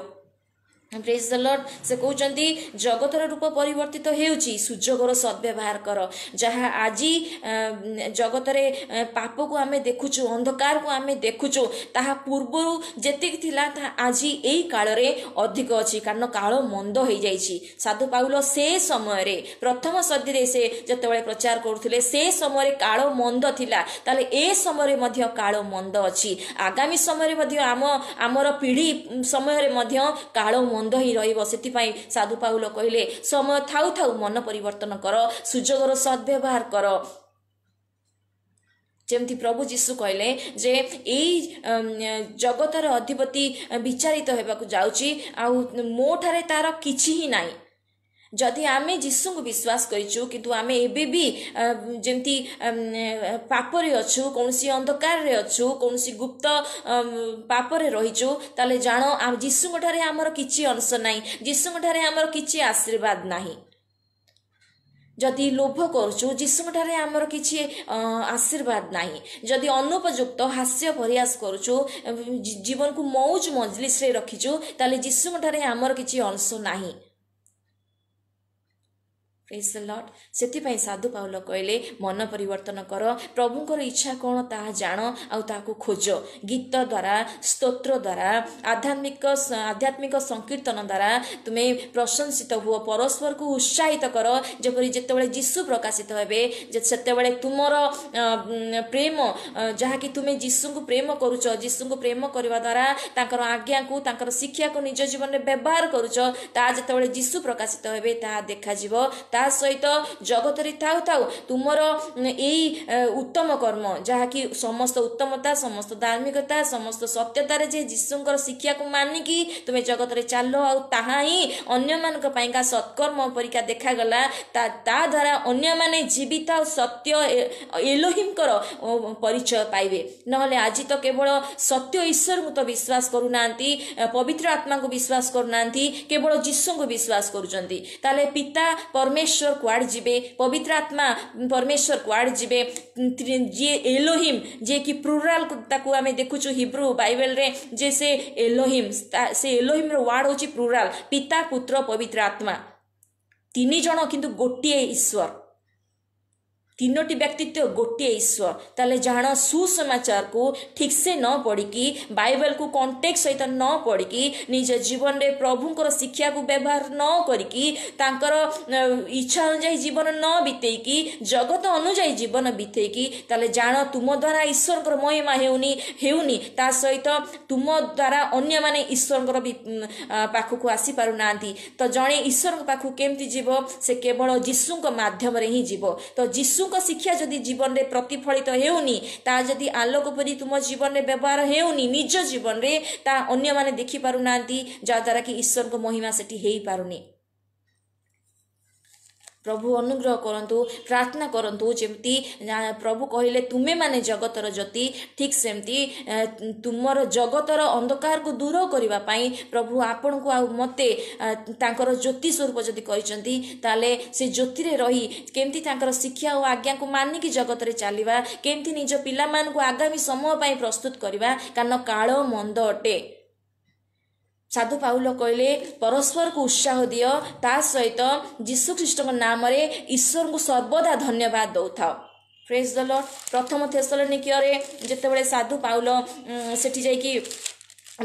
Praise the Lord. ସେ କହୁଛନ୍ତି ଜଗତର ରୂପ ପରିବର୍ତ୍ତିତ ହେଉଛି, ସୁଯୋଗର ସଦ୍ବ୍ୟବହାର କର। ଯାହା ଆଜି ଜଗତରେ ପାପକୁ ଆମେ ଦେଖୁଛୁ, ଅନ୍ଧକାରକୁ ଆମେ ଦେଖୁଛୁ, ତାହା ପୂର୍ବରୁ ଯେତିକି ଥିଲା ତାହା ଆଜି ଏଇ କାଳରେ ଅଧିକ ଅଛି, କାରଣ କାଳ ମନ୍ଦ ହେଇଯାଇଛି। ସାଧୁ ପାଉଲ ସେ ସମୟରେ ପ୍ରଥମ ସଦୀରେ ସେ ଯେତେବେଳେ ପ୍ରଚାର କରୁଥିଲେ ସେ ସମୟରେ କାଳ ମନ୍ଦ ଥିଲା, ତାହେଲେ ଏ ସମୟରେ ମଧ୍ୟ କାଳ ମନ୍ଦ ଅଛି। ଆଗାମୀ ସମୟରେ ମଧ୍ୟ ଆମ ଆମର ପିଢ଼ି ସମୟରେ ମଧ୍ୟ କାଳ ମନ୍ଦ ହିଁ ରହିବ। ସେଥିପାଇଁ ସାଧୁ ପାଉଲ କହିଲେ ସମୟ ଥାଉ ଥାଉ ମନ ପରିବର୍ତ୍ତନ କର, ସୁଯୋଗର ସଦ୍ବ୍ୟବହାର କର। ଯେମିତି ପ୍ରଭୁ ଯୀଶୁ କହିଲେ ଯେ ଏଇ ଜଗତର ଅଧିପତି ବିଚାରିତ ହେବାକୁ ଯାଉଛି, ଆଉ ମୋ ଠାରେ ତାର କିଛି ହିଁ ନାହିଁ। ଯଦି ଆମେ ଯୀଶୁଙ୍କୁ ବିଶ୍ୱାସ କରିଛୁ କିନ୍ତୁ ଆମେ ଏବେ ବି ଯେମିତି ପାପରେ ଅଛୁ, କୌଣସି ଅନ୍ଧକାରରେ ଅଛୁ, କୌଣସି ଗୁପ୍ତ ପାପରେ ରହିଛୁ, ତାହେଲେ ଜାଣ ଯୀଶୁଙ୍କ ଠାରେ ଆମର କିଛି ଅଂଶ ନାହିଁ, ଯୀଶୁଙ୍କ ଠାରେ ଆମର କିଛି ଆଶୀର୍ବାଦ ନାହିଁ। ଯଦି ଲୋଭ କରୁଛୁ, ଯୀଶୁଙ୍କ ଠାରେ ଆମର କିଛି ଆଶୀର୍ବାଦ ନାହିଁ। ଯଦି ଅନୁପଯୁକ୍ତ ହାସ୍ୟ ପରିହାସ କରୁଛୁ, ଜୀବନକୁ ମଉଜ ମଜଲିସରେ ରଖିଛୁ, ତାହେଲେ ଯୀଶୁଙ୍କ ଠାରେ ଆମର କିଛି ଅଂଶ ନାହିଁ। Praise the Lord. ସେଥିପାଇଁ ସାଧୁ ପାଉଲ କହିଲେ ମନ ପରିବର୍ତ୍ତନ କର, ପ୍ରଭୁଙ୍କର ଇଚ୍ଛା କ'ଣ ତାହା ଜାଣ ଆଉ ତାହାକୁ ଖୋଜ। ଗୀତ ଦ୍ୱାରା, ସ୍ତୋତ୍ର ଦ୍ୱାରା, ଆଧ୍ୟାତ୍ମିକ ଆଧ୍ୟାତ୍ମିକ ସଂକୀର୍ତ୍ତନ ଦ୍ୱାରା ତୁମେ ପ୍ରଶଂସିତ ହୁଅ, ପରସ୍ପରକୁ ଉତ୍ସାହିତ କର, ଯେପରି ଯେତେବେଳେ ଯୀଶୁ ପ୍ରକାଶିତ ହେବେ ସେତେବେଳେ ତୁମର ପ୍ରେମ, ଯାହାକି ତୁମେ ଯୀଶୁଙ୍କୁ ପ୍ରେମ କରୁଛ, ଯୀଶୁଙ୍କୁ ପ୍ରେମ କରିବା ଦ୍ୱାରା ତାଙ୍କର ଆଜ୍ଞାକୁ, ତାଙ୍କର ଶିକ୍ଷାକୁ ନିଜ ଜୀବନରେ ବ୍ୟବହାର କରୁଛ, ତାହା ଯେତେବେଳେ ଯୀଶୁ ପ୍ରକାଶିତ ହେବେ ତାହା ଦେଖାଯିବ। ତା ସହିତ ଜଗତରେ ଥାଉ ଥାଉ ତୁମର ଏଇ ଉତ୍ତମ କର୍ମ, ଯାହାକି ସମସ୍ତ ଉତ୍ତମତା, ସମସ୍ତ ଧାର୍ମିକତା, ସମସ୍ତ ସତ୍ୟତାରେ ଯେ ଯୀଶୁଙ୍କର ଶିକ୍ଷାକୁ ମାନିକି ତୁମେ ଜଗତରେ ଚାଲ, ଆଉ ତାହା ହିଁ ଅନ୍ୟମାନଙ୍କ ପାଇଁକା ସତ୍କର୍ମ ପରିକା ଦେଖାଗଲା, ତା ତା ଦ୍ୱାରା ଅନ୍ୟମାନେ ଜୀବିତ ଆଉ ସତ୍ୟ ଏଲୋହିମଙ୍କର ପରିଚୟ ପାଇବେ। ନହେଲେ ଆଜି ତ କେବଳ ସତ୍ୟ ଈଶ୍ୱରଙ୍କୁ ତ ବିଶ୍ୱାସ କରୁନାହାନ୍ତି, ପବିତ୍ର ଆତ୍ମାଙ୍କୁ ବିଶ୍ୱାସ କରୁନାହାନ୍ତି, କେବଳ ଯୀଶୁଙ୍କୁ ବିଶ୍ୱାସ କରୁଛନ୍ତି। ତାହେଲେ ପିତା ପରମେଶ୍ୱର କୁଆଡ଼େ ଯିବେ, ପବିତ୍ର ଆତ୍ମା ପରମେଶ୍ୱର କୁଆଡ଼େ ଯିବେ? ଯିଏ ଏଲୋହିମ, ଯିଏକି ପ୍ଲୁରାଲ ତାକୁ ଆମେ ଦେଖୁଛୁ ହିବ୍ରୁ ବାଇବେଲରେ ଯେ ସେ ଏଲୋହିମ, ସେ ଏଲୋହିମର ୱାର୍ଡ ହେଉଛି ପ୍ଲୁରାଲ, ପିତା ପୁତ୍ର ପବିତ୍ର ଆତ୍ମା, ତିନି ଜଣ କିନ୍ତୁ ଗୋଟିଏ ଈଶ୍ୱର, ତିନୋଟି ବ୍ୟକ୍ତିତ୍ୱ ଗୋଟିଏ ଈଶ୍ୱର। ତାହେଲେ ଜାଣ ସୁସମାଚାରକୁ ଠିକ୍ସେ ନ ପଢ଼ିକି, ବାଇବେଲକୁ କଣ୍ଟେକ୍ଟ ସହିତ ନ ପଢ଼ିକି, ନିଜ ଜୀବନରେ ପ୍ରଭୁଙ୍କର ଶିକ୍ଷାକୁ ବ୍ୟବହାର ନ କରିକି, ତାଙ୍କର ଇଚ୍ଛା ଅନୁଯାୟୀ ଜୀବନ ନ ବିତେଇକି, ଜଗତ ଅନୁଯାୟୀ ଜୀବନ ବିତେଇକି, ତାହେଲେ ଜାଣ ତୁମ ଦ୍ୱାରା ଈଶ୍ୱରଙ୍କର ମହିମା ହେଉନି ହେଉନି ତା ସହିତ ତୁମ ଦ୍ୱାରା ଅନ୍ୟମାନେ ଈଶ୍ୱରଙ୍କର ପାଖକୁ ଆସିପାରୁନାହାନ୍ତି। ତ ଜଣେ ଈଶ୍ୱରଙ୍କ ପାଖକୁ କେମିତି ଯିବ? ସେ କେବଳ ଯୀଶୁଙ୍କ ମାଧ୍ୟମରେ ହିଁ ଯିବ। ତ ଯୀଶୁ ଶିକ୍ଷା ଯଦି ଜୀବନରେ ପ୍ରତିଫଳିତ ହେଉନି, ତାହା ଯଦି ଆଲୋକ ପରି ତୁମ ଜୀବନରେ ବ୍ୟବହାର ହେଉନି ନିଜ ଜୀବନରେ, ତାହା ଅନ୍ୟମାନେ ଦେଖିପାରୁନାହାନ୍ତି, ଯାହାଦ୍ୱାରା କି ଈଶ୍ୱରଙ୍କ ମହିମା ସେଠି ହେଇପାରୁନି। ପ୍ରଭୁ ଅନୁଗ୍ରହ କରନ୍ତୁ, ପ୍ରାର୍ଥନା କରନ୍ତୁ, ଯେମିତି ପ୍ରଭୁ କହିଲେ ତୁମେମାନେ ଜଗତର ଜ୍ୟୋତି, ଠିକ୍ ସେମିତି ତୁମର ଜଗତର ଅନ୍ଧକାରକୁ ଦୂର କରିବା ପାଇଁ ପ୍ରଭୁ ଆପଣଙ୍କୁ ଆଉ ମୋତେ ତାଙ୍କର ଜ୍ୟୋତି ସ୍ୱରୂପ ଯଦି କହିଛନ୍ତି, ତାହେଲେ ସେ ଜ୍ୟୋତିରେ ରହି କେମିତି ତାଙ୍କର ଶିକ୍ଷା ଓ ଆଜ୍ଞାକୁ ମାନିକି ଜଗତରେ ଚାଲିବା, କେମିତି ନିଜ ପିଲାମାନଙ୍କୁ ଆଗାମୀ ସମୟ ପାଇଁ ପ୍ରସ୍ତୁତ କରିବା, କାରଣ କାଳ ମନ୍ଦ ଅଟେ। ସାଧୁ ପାଉଲ କହିଲେ ପରସ୍ପରକୁ ଉତ୍ସାହ ଦିଅ, ତା ସହିତ ଯୀଶୁଖ୍ରୀଷ୍ଟଙ୍କ ନାମରେ ଈଶ୍ୱରଙ୍କୁ ସର୍ବଦା ଧନ୍ୟବାଦ ଦେଉଥାଅ। Praise the Lord. ପ୍ରଥମ ଥେସଲନିକୀୟରେ ଯେତେବେଳେ ସାଧୁ ପାଉଲ ସେଠି ଯାଇକି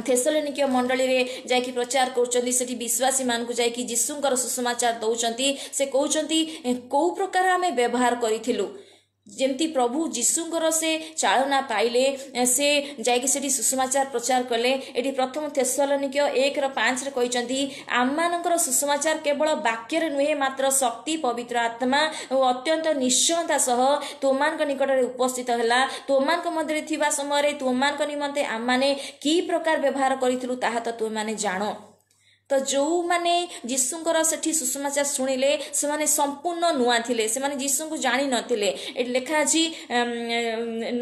ଥେସଲନିକୀୟ ମଣ୍ଡଳୀରେ ଯାଇକି ପ୍ରଚାର କରୁଛନ୍ତି, ସେଠି ବିଶ୍ୱାସୀମାନଙ୍କୁ ଯାଇକି ଯୀଶୁଙ୍କର ସୁସମାଚାର ଦେଉଛନ୍ତି, ସେ କହୁଛନ୍ତି କେଉଁ ପ୍ରକାର ଆମେ ବ୍ୟବହାର କରିଥିଲୁ। ଯେମିତି ପ୍ରଭୁ ଯୀଶୁଙ୍କର ସେ ଚାଳନା ପାଇଲେ, ସେ ଯାଇକି ସେଠି ସୁସମାଚାର ପ୍ରଚାର କଲେ। ଏଠି ପ୍ରଥମ ଥେସଲନିକୀୟ ଏକର ପାଞ୍ଚରେ କହିଛନ୍ତି, ଆମମାନଙ୍କର ସୁସମାଚାର କେବଳ ବାକ୍ୟରେ ନୁହେଁ, ମାତ୍ର ଶକ୍ତି, ପବିତ୍ର ଆତ୍ମା ଓ ଅତ୍ୟନ୍ତ ନିଶ୍ଚୟତା ସହ ତୁମମାନଙ୍କ ନିକଟରେ ଉପସ୍ଥିତ ହେଲା। ତୁମମାନଙ୍କ ମଧ୍ୟରେ ଥିବା ସମୟରେ ତୁମମାନଙ୍କ ନିମନ୍ତେ ଆମମାନେ କି ପ୍ରକାର ବ୍ୟବହାର କରିଥିଲୁ ତାହା ତ ତୁମେମାନେ ଜାଣ। ତ ଯେଉଁମାନେ ଯୀଶୁଙ୍କର ସେଠି ସୁସମାଚାର ଶୁଣିଲେ ସେମାନେ ସମ୍ପୂର୍ଣ୍ଣ ନୂଆ ଥିଲେ, ସେମାନେ ଯୀଶୁଙ୍କୁ ଜାଣିନଥିଲେ। ଏଠି ଲେଖା ଅଛି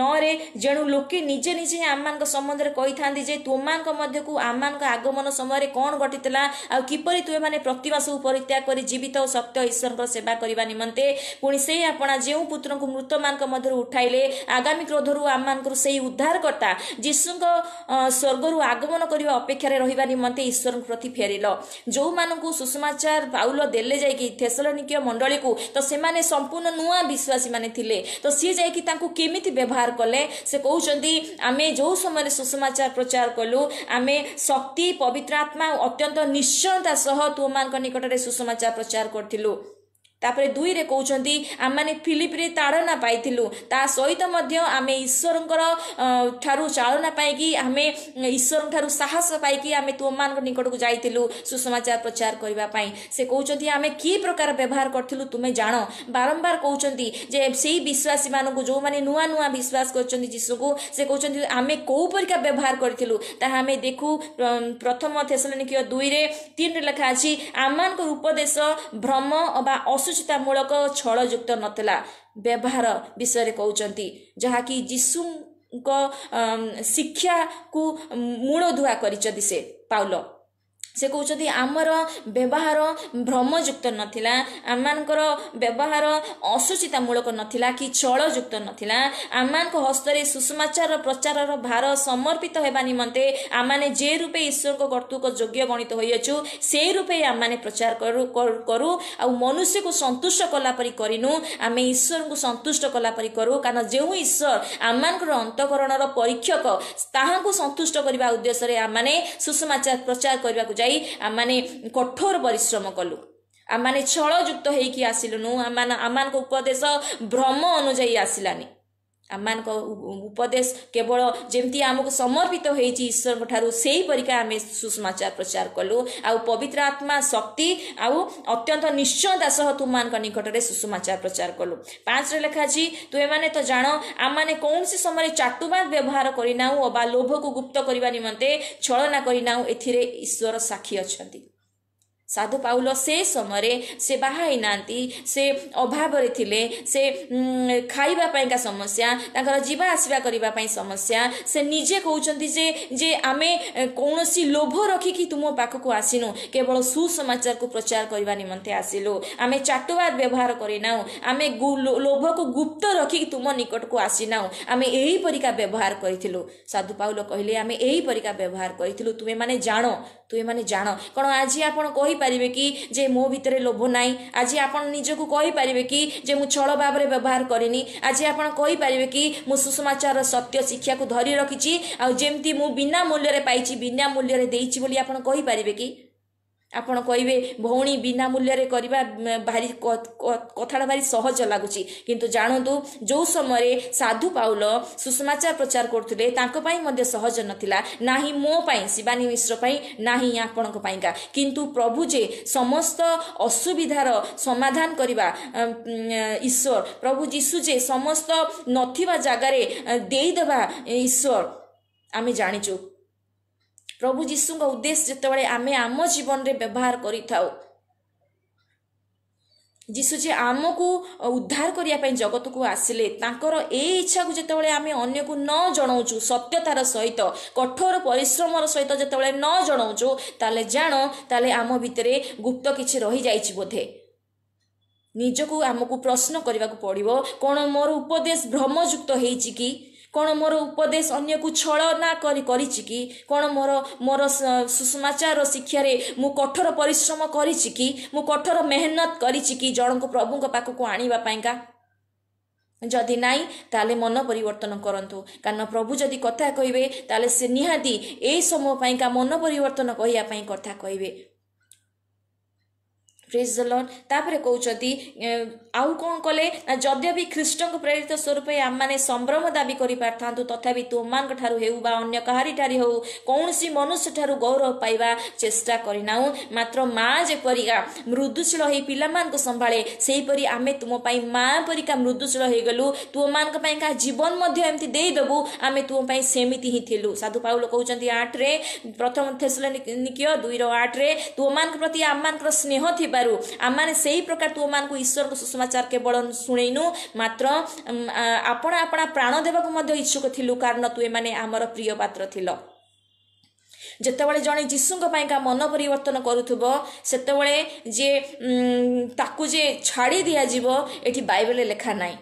ନଅରେ, ଯେଣୁ ଲୋକେ ନିଜେ ନିଜେ ଆମମାନଙ୍କ ସମ୍ବନ୍ଧରେ କହିଥାନ୍ତି ଯେ ତୁମମାନଙ୍କ ମଧ୍ୟକୁ ଆମମାନଙ୍କ ଆଗମନ ସମୟରେ କ'ଣ ଘଟିଥିଲା ଆଉ କିପରି ତୁମେମାନେ ପ୍ରତିମା ସବୁ ପରିତ୍ୟାଗ କରି ଜୀବିତ ଓ ସତ୍ୟ ଈଶ୍ୱରଙ୍କର ସେବା କରିବା ନିମନ୍ତେ ପୁଣି ସେଇ ଆପଣା ଯେଉଁ ପୁତ୍ରଙ୍କୁ ମୃତମାନଙ୍କ ମଧ୍ୟରୁ ଉଠାଇଲେ, ଆଗାମୀ କ୍ରୋଧରୁ ଆମମାନଙ୍କର ସେଇ ଉଦ୍ଧାରକର୍ତ୍ତା ଯୀଶୁଙ୍କ ସ୍ୱର୍ଗରୁ ଆଗମନ କରିବା ଅପେକ୍ଷାରେ ରହିବା ନିମନ୍ତେ ଈଶ୍ୱରଙ୍କ ପ୍ରତି ଫେରିଲ। ଯେଉଁମାନଙ୍କୁ ସୁସମାଚାର ପାଉଲ ଦେଲେ ଯାଇକି ଥେସଲନିକୀୟ ମଣ୍ଡଳୀକୁ, ତ ସେମାନେ ସମ୍ପୂର୍ଣ୍ଣ ନୂଆ ବିଶ୍ୱାସୀ ମାନେ ଥିଲେ। ତ ସିଏ ଯାଇକି ତାଙ୍କୁ କେମିତି ବ୍ୟବହାର କଲେ? ସେ କହୁଛନ୍ତି ଆମେ ଯେଉଁ ସମୟରେ ସୁସମାଚାର ପ୍ରଚାର କଲୁ, ଆମେ ଶକ୍ତି, ପବିତ୍ର ଆତ୍ମା ଅତ୍ୟନ୍ତ ନିଶ୍ଚୟତା ସହ ତୁମମାନଙ୍କ ନିକଟରେ ସୁସମାଚାର ପ୍ରଚାର କରିଥିଲୁ। ତାପରେ ଦୁଇରେ କହୁଛନ୍ତି ଆମମାନେ ଫିଲିପରେ ତାଡ଼ନା ପାଇଥିଲୁ, ତା ସହିତ ମଧ୍ୟ ଆମେ ଈଶ୍ୱରଙ୍କର ଠାରୁ ଚାଳନା ପାଇକି, ଆମେ ଈଶ୍ୱରଙ୍କ ଠାରୁ ସାହସ ପାଇକି ଆମେ ତୁମମାନଙ୍କ ନିକଟକୁ ଯାଇଥିଲୁ ସୁସମାଚାର ପ୍ରଚାର କରିବା ପାଇଁ। ସେ କହୁଛନ୍ତି ଆମେ କି ପ୍ରକାର ବ୍ୟବହାର କରିଥିଲୁ ତୁମେ ଜାଣ। ବାରମ୍ବାର କହୁଛନ୍ତି ଯେ ସେଇ ବିଶ୍ୱାସୀମାନଙ୍କୁ ଯେଉଁମାନେ ନୂଆ ନୂଆ ବିଶ୍ୱାସ କରିଛନ୍ତି ଯୀଶୁଙ୍କୁ, ସେ କହୁଛନ୍ତି ଆମେ କେଉଁ ପରିକା ବ୍ୟବହାର କରିଥିଲୁ ତାହା ଆମେ ଦେଖୁ। ପ୍ରଥମ ଥେସଲନିକୀୟ ଦୁଇରେ ତିନିରେ ଲେଖା ଅଛି, ଆମମାନଙ୍କର ଉପଦେଶ ଭ୍ରମ ବା ଅସୁଚିତାମୂଳକ ଛଳଯୁକ୍ତ ନଥିଲା। ବ୍ୟବହାର ବିଷୟରେ କହୁଛନ୍ତି, ଯାହାକି ଯୀଶୁଙ୍କ ଶିକ୍ଷାକୁ ମୂଳଦୁଆ କରିଛନ୍ତି ସେ ପାଉଲ। ସେ କହୁଛନ୍ତି ଆମର ବ୍ୟବହାର ଭ୍ରମଯୁକ୍ତ ନଥିଲା, ଆମମାନଙ୍କର ବ୍ୟବହାର ଅସୁଚିତାମୂଳକ ନଥିଲା କି ଛଳଯୁକ୍ତ ନଥିଲା। ଆମମାନଙ୍କ ହସ୍ତରେ ସୁସମାଚାର ପ୍ରଚାରର ଭାର ସମର୍ପିତ ହେବା ନିମନ୍ତେ ଆମମାନେ ଯେ ରୂପେ ଈଶ୍ୱରଙ୍କ କର୍ତ୍ତୃକ ଯୋଗ୍ୟ ଗଣିତ ହୋଇଅଛୁ ସେଇ ରୂପେ ଆମମାନେ ପ୍ରଚାର କରୁ କରୁ ଆଉ ମନୁଷ୍ୟକୁ ସନ୍ତୁଷ୍ଟ କଲା ପରି କରିନୁ, ଆମେ ଈଶ୍ୱରଙ୍କୁ ସନ୍ତୁଷ୍ଟ କଲା ପରି କରୁ। କାରଣ ଯେଉଁ ଈଶ୍ୱର ଆମମାନଙ୍କର ଅନ୍ତଃକରଣର ପରୀକ୍ଷକ, ତାହାଙ୍କୁ ସନ୍ତୁଷ୍ଟ କରିବା ଉଦ୍ଦେଶ୍ୟରେ ଆମମାନେ ସୁସମାଚାର ପ୍ରଚାର କରିବାକୁ ଯାଇ ଆମମାନେ କଠୋର ପରିଶ୍ରମ କଲୁ। ଆମମାନେ ଛଳଯୁକ୍ତ ହେଇକି ଆସିଲୁନୁ, ଆମମାନ ଆମମାନଙ୍କ ଉପଦେଶ ଭ୍ରମ ଅନୁଯାୟୀ ଆସିଲାନି। ଆମମାନଙ୍କ ଉପଦେଶ କେବଳ ଯେମିତି ଆମକୁ ସମର୍ପିତ ହେଇଛି ଈଶ୍ୱରଙ୍କ ଠାରୁ ସେହିପରିକା ଆମେ ସୁସମାଚାର ପ୍ରଚାର କଲୁ। ଆଉ ପବିତ୍ର ଆତ୍ମା ଶକ୍ତି ଆଉ ଅତ୍ୟନ୍ତ ନିଶ୍ଚୟତା ସହ ତୁମମାନଙ୍କ ନିକଟରେ ସୁସମାଚାର ପ୍ରଚାର କଲୁ। ପାଞ୍ଚରେ ଲେଖା ଅଛି, ତୁମେମାନେ ତ ଜାଣ ଆମମାନେ କୌଣସି ସମୟରେ ଚାଟୁବାଦ ବ୍ୟବହାର କରିନାହୁଁ ଅବା ଲୋଭକୁ ଗୁପ୍ତ କରିବା ନିମନ୍ତେ ଛଳନା କରିନାହୁଁ, ଏଥିରେ ଈଶ୍ୱର ସାକ୍ଷୀ ଅଛନ୍ତି। ସାଧୁ ପାଉଲ ସେ ସମୟରେ ସେ ବାହା ହେଇନାହାନ୍ତି, ସେ ଅଭାବରେ ଥିଲେ, ସେ ଖାଇବା ପାଇଁକା ସମସ୍ୟା, ତାଙ୍କର ଯିବା ଆସିବା କରିବା ପାଇଁ ସମସ୍ୟା। ସେ ନିଜେ କହୁଛନ୍ତି ଯେ ଯେ ଆମେ କୌଣସି ଲୋଭ ରଖିକି ତୁମ ପାଖକୁ ଆସିନୁ, କେବଳ ସୁସମାଚାରକୁ ପ୍ରଚାର କରିବା ନିମନ୍ତେ ଆସିଲୁ। ଆମେ ଚାଟୁବାଦ ବ୍ୟବହାର କରିନାହୁଁ, ଆମେ ଲୋଭକୁ ଗୁପ୍ତ ରଖିକି ତୁମ ନିକଟକୁ ଆସିନାହୁଁ, ଆମେ ଏହିପରିକା ବ୍ୟବହାର କରିଥିଲୁ। ସାଧୁ ପାଉଲ କହିଲେ ଆମେ ଏହିପରିକା ବ୍ୟବହାର କରିଥିଲୁ, ତୁମେମାନେ ଜାଣ, ତୁମେମାନେ ଜାଣ। କ'ଣ ଆଜି ଆପଣ କହିପାରିବେ କି ଯେ ମୋ ଭିତରେ ଲୋଭ ନାହିଁ? ଆଜି ଆପଣ ନିଜକୁ କହିପାରିବେ କି ଯେ ମୁଁ ଛଳ ଭାବରେ ବ୍ୟବହାର କରିନି? ଆଜି ଆପଣ କହିପାରିବେ କି ମୁଁ ସୁସମାଚାରର ସତ୍ୟ ଶିକ୍ଷାକୁ ଧରି ରଖିଛି ଆଉ ଯେମିତି ମୁଁ ବିନା ମୂଲ୍ୟରେ ପାଇଛି ବିନା ମୂଲ୍ୟରେ ଦେଇଛି ବୋଲି ଆପଣ କହିପାରିବେ କି? ଆପଣ କହିବେ ଭଉଣୀ ବିନା ମୂଲ୍ୟରେ କରିବା ଭାରି କଥାଟା ଭାରି ସହଜ ଲାଗୁଛି, କିନ୍ତୁ ଜାଣନ୍ତୁ ଯେଉଁ ସମୟରେ ସାଧୁ ପାଉଲ ସୁସମାଚାର ପ୍ରଚାର କରୁଥିଲେ ତାଙ୍କ ପାଇଁ ମଧ୍ୟ ସହଜ ନଥିଲା, ନାହିଁ ମୋ ପାଇଁ ଶିବାନୀ ମିଶ୍ର ପାଇଁ, ନାହିଁ ଆପଣଙ୍କ ପାଇଁକା। କିନ୍ତୁ ପ୍ରଭୁ ଯେ ସମସ୍ତ ଅସୁବିଧାର ସମାଧାନ କରିବା ଈଶ୍ୱର, ପ୍ରଭୁ ଯୀଶୁ ଯେ ସମସ୍ତ ନଥିବା ଜାଗାରେ ଦେଇଦେବା ଈଶ୍ୱର, ଆମେ ଜାଣିଛୁ। ପ୍ରଭୁ ଯୀଶୁଙ୍କ ଉଦ୍ଦେଶ୍ୟ ଯେତେବେଳେ ଆମେ ଆମ ଜୀବନରେ ବ୍ୟବହାର କରିଥାଉ, ଯୀଶୁ ଯେ ଆମକୁ ଉଦ୍ଧାର କରିବା ପାଇଁ ଜଗତକୁ ଆସିଲେ, ତାଙ୍କର ଏଇ ଇଚ୍ଛାକୁ ଯେତେବେଳେ ଆମେ ଅନ୍ୟକୁ ନ ଜଣାଉଛୁ, ସତ୍ୟତାର ସହିତ କଠୋର ପରିଶ୍ରମର ସହିତ ଯେତେବେଳେ ନ ଜଣାଉଛୁ, ତାହେଲେ ଜାଣ ତାହେଲେ ଆମ ଭିତରେ ଗୁପ୍ତ କିଛି ରହିଯାଇଛି ବୋଧେ। ନିଜକୁ ଆମକୁ ପ୍ରଶ୍ନ କରିବାକୁ ପଡ଼ିବ, କ'ଣ ମୋର ଉପଦେଶ ଭ୍ରମଯୁକ୍ତ ହେଇଛି କି? କ'ଣ ମୋର ଉପଦେଶ ଅନ୍ୟକୁ ଛଳନା କରି କରିଛି କି? କ'ଣ ମୋର ମୋର ସୁସମାଚାର ଶିକ୍ଷାରେ ମୁଁ କଠୋର ପରିଶ୍ରମ କରିଛି କି? ମୁଁ କଠୋର ମେହନତ କରିଛି କି ଜଣଙ୍କୁ ପ୍ରଭୁଙ୍କ ପାଖକୁ ଆଣିବା ପାଇଁକା? ଯଦି ନାହିଁ, ତାହେଲେ ମନ ପରିବର୍ତ୍ତନ କରନ୍ତୁ। କାରଣ ପ୍ରଭୁ ଯଦି କଥା କହିବେ, ତାହେଲେ ସେ ନିହାତି ଏଇ ସମୟ ପାଇଁକା ମନ ପରିବର୍ତ୍ତନ କହିବା ପାଇଁ କଥା କହିବେ। ପ୍ରେଜ୍ ଦ ଲର୍ଡ। ତାପରେ କହୁଛନ୍ତି, ଆଉ କ'ଣ କଲେ ନା, ଯଦ୍ୟପି ଖ୍ରୀଷ୍ଟଙ୍କ ପ୍ରେରିତ ସ୍ୱରୂପ ଆମମାନେ ସମ୍ଭ୍ରମ ଦାବି କରିପାରିଥାନ୍ତୁ, ତଥାପି ତୁମମାନଙ୍କ ଠାରୁ ହେଉ ବା ଅନ୍ୟ କାହାରି ଠାରୁ ହେଉ କୌଣସି ମନୁଷ୍ୟ ଠାରୁ ଗୌରବ ପାଇବା ଚେଷ୍ଟା କରିନାହୁଁ। ମାତ୍ର ମା ଯେପରିକା ମୃଦୁଶୀଳ ହେଇ ପିଲାମାନଙ୍କୁ ସମ୍ଭାଳେ, ସେହିପରି ଆମେ ତୁମ ପାଇଁ ମା ପରିକା ମୃଦୁଶୀଳ ହେଇଗଲୁ। ତୁମମାନଙ୍କ ପାଇଁକା ଜୀବନ ମଧ୍ୟ ଏମିତି ଦେଇଦେବୁ, ଆମେ ତୁମ ପାଇଁ ସେମିତି ହିଁ ଥିଲୁ। ସାଧୁ ପାଉଲ କହୁଛନ୍ତି ଆଠରେ, ପ୍ରଥମ ଥେସଲନିକୀୟ ଦୁଇର ଆଠରେ, ତୁମମାନଙ୍କ ପ୍ରତି ଆମମାନଙ୍କର ସ୍ନେହ ଥିବା ଆମମାନେ ସେଇ ପ୍ରକାର ତୁମମାନଙ୍କୁ ଈଶ୍ୱରଙ୍କ ସୁସମାଚାର କେବଳ ଶୁଣେଇନୁ, ମାତ୍ର ଆପଣା ଆପଣା ପ୍ରାଣ ଦେବାକୁ ମଧ୍ୟ ଇଚ୍ଛୁକ ଥିଲୁ, କାରଣ ତୁମେମାନେ ଆମର ପ୍ରିୟ ପାତ୍ର ଥିଲ। ଯେତେବେଳେ ଜଣେ ଯୀଶୁଙ୍କ ପାଇଁକା ମନ ପରିବର୍ତ୍ତନ କରୁଥିବ, ସେତେବେଳେ ଯେ ତାକୁ ଯେ ଛାଡ଼ି ଦିଆଯିବ, ଏଠି ବାଇବେଲରେ ଲେଖା ନାହିଁ।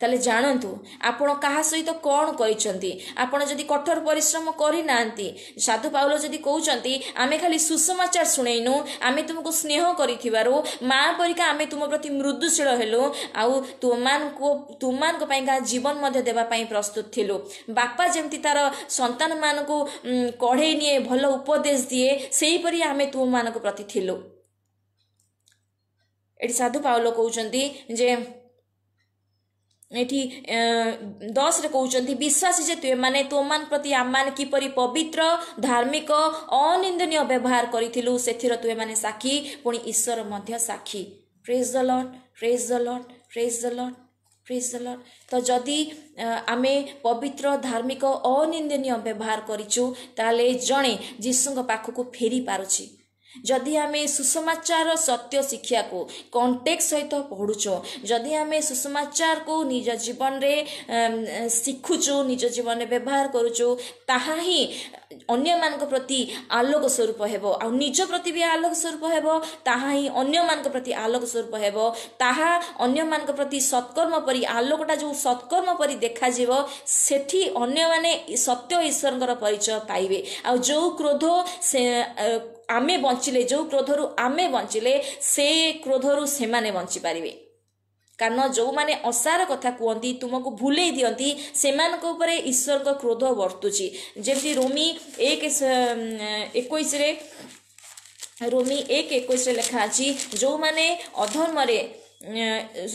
ତାହେଲେ ଜାଣନ୍ତୁ ଆପଣ କାହା ସହିତ କ'ଣ କରିଛନ୍ତି। ଆପଣ ଯଦି କଠୋର ପରିଶ୍ରମ କରିନାହାନ୍ତି, ସାଧୁ ପାଉଲ ଯଦି କହୁଛନ୍ତି ଆମେ ଖାଲି ସୁସମାଚାର ଶୁଣେଇନୁ, ଆମେ ତୁମକୁ ସ୍ନେହ କରିଥିବାରୁ ମା ପରିକା ଆମେ ତୁମ ପ୍ରତି ମୃଦୁଶୀଳ ହେଲୁ, ଆଉ ତୁମମାନଙ୍କୁ ତୁମମାନଙ୍କ ପାଇଁକା ଜୀବନ ମଧ୍ୟ ଦେବା ପାଇଁ ପ୍ରସ୍ତୁତ ଥିଲୁ। ବାପା ଯେମିତି ତାର ସନ୍ତାନମାନଙ୍କୁ କଢ଼େଇ ନିଏ, ଭଲ ଉପଦେଶ ଦିଏ, ସେହିପରି ଆମେ ତୁମମାନଙ୍କ ପ୍ରତି ଥିଲୁ। ଏଠି ସାଧୁ ପାଉଲ କହୁଛନ୍ତି ଯେ ଏଠି ଦଶରେ କହୁଛନ୍ତି, ବିଶ୍ୱାସୀ ଯେ ତୁମେମାନେ ତୁମମାନଙ୍କ ପ୍ରତି ଆମମାନେ କିପରି ପବିତ୍ର, ଧାର୍ମିକ, ଅନିନ୍ଦନୀୟ ବ୍ୟବହାର କରିଥିଲୁ, ସେଥିର ତୁମେମାନେ ସାକ୍ଷୀ, ପୁଣି ଈଶ୍ୱର ମଧ୍ୟ ସାକ୍ଷୀ। ପ୍ରେଜ୍ ଦ ଲର୍ଡ, ପ୍ରେଜ୍ ଦ ଲର୍ଡ, ପ୍ରେଜ୍ ଦ ଲର୍ଡ, ପ୍ରେଜ୍ ଦ ଲର୍ଡ। ତ ଯଦି ଆମେ ପବିତ୍ର, ଧାର୍ମିକ, ଅନିନ୍ଦନୀୟ ବ୍ୟବହାର କରିଛୁ, ତାହେଲେ ଜଣେ ଯୀଶୁଙ୍କ ପାଖକୁ ଫେରି ପାରୁଛି। ଯଦି ଆମେ ସୁସମାଚାର ସତ୍ୟ ଶିକ୍ଷାକୁ କଣ୍ଟେକ୍ଟ ସହିତ ପଢ଼ୁଛୁ, ଯଦି ଆମେ ସୁସମାଚାରକୁ ନିଜ ଜୀବନରେ ଶିଖୁଛୁ, ନିଜ ଜୀବନରେ ବ୍ୟବହାର କରୁଛୁ, ତାହା ହିଁ ଅନ୍ୟମାନଙ୍କ ପ୍ରତି ଆଲୋକ ସ୍ୱରୂପ ହେବ, ଆଉ ନିଜ ପ୍ରତି ବି ଆଲୋକ ସ୍ୱରୂପ ହେବ। ତାହା ହିଁ ଅନ୍ୟମାନଙ୍କ ପ୍ରତି ଆଲୋକ ସ୍ୱରୂପ ହେବ। ତାହା ଅନ୍ୟମାନଙ୍କ ପ୍ରତି ସତ୍କର୍ମ ପରି, ଆଲୋକଟା ଯେଉଁ ସତ୍କର୍ମ ପରି ଦେଖାଯିବ, ସେଠି ଅନ୍ୟମାନେ ସତ୍ୟ ଈଶ୍ୱରଙ୍କର ପରିଚୟ ପାଇବେ। ଆଉ ଯେଉଁ କ୍ରୋଧ ସେ ଆମେ ବଞ୍ଚିଲେ, ଯେଉଁ କ୍ରୋଧରୁ ଆମେ ବଞ୍ଚିଲେ, ସେ କ୍ରୋଧରୁ ସେମାନେ ବଞ୍ଚିପାରିବେ। କାରଣ ଯେଉଁମାନେ ଅସାର କଥା କୁହନ୍ତି, ତୁମକୁ ଭୁଲେଇ ଦିଅନ୍ତି, ସେମାନଙ୍କ ଉପରେ ଈଶ୍ୱରଙ୍କ କ୍ରୋଧ ବର୍ତ୍ତୁଛି। ଯେମିତି ରୋମି ଏକ ଏକୋଇଶରେ, ରୋମି ଏକ ଏକୋଇଶରେ ଲେଖା ଅଛି, ଯେଉଁମାନେ ଅଧର୍ମରେ,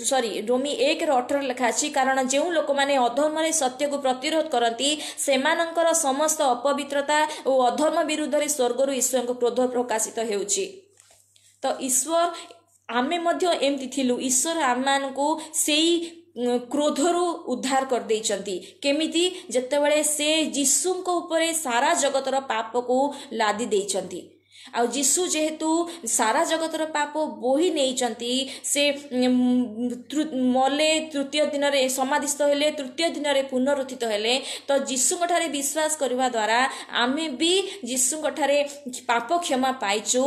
ସରି, ରୋମି ଏକର ଅଠର ଲେଖା ଅଛି, କାରଣ ଯେଉଁ ଲୋକମାନେ ଅଧର୍ମରେ ସତ୍ୟକୁ ପ୍ରତିରୋଧ କରନ୍ତି, ସେମାନଙ୍କର ସମସ୍ତ ଅପବିତ୍ରତା ଓ ଅଧର୍ମ ବିରୁଦ୍ଧରେ ସ୍ୱର୍ଗରୁ ଈଶ୍ୱରଙ୍କ କ୍ରୋଧ ପ୍ରକାଶିତ ହେଉଛି। ତ ଈଶ୍ୱର, ଆମେ ମଧ୍ୟ ଏମିତି ଥିଲୁ, ଈଶ୍ୱର ଆମମାନଙ୍କୁ ସେଇ କ୍ରୋଧରୁ ଉଦ୍ଧାର କରିଦେଇଛନ୍ତି। କେମିତି? ଯେତେବେଳେ ସେ ଯୀଶୁଙ୍କ ଉପରେ ସାରା ଜଗତର ପାପକୁ ଲାଦି ଦେଇଛନ୍ତି। ଆଉ ଯୀଶୁ ଯେହେତୁ ସାରା ଜଗତର ପାପ ବୋହି ନେଇଛନ୍ତି, ସେ ମଲେ, ତୃତୀୟ ଦିନରେ ସମାଧିସ୍ଥ ହେଲେ, ତୃତୀୟ ଦିନରେ ପୁନରୁତ୍ଥିତ ହେଲେ। ତ ଯୀଶୁଙ୍କ ଠାରେ ବିଶ୍ୱାସ କରିବା ଦ୍ୱାରା ଆମେ ବି ଯୀଶୁଙ୍କ ଠାରେ ପାପ କ୍ଷମା ପାଇଛୁ।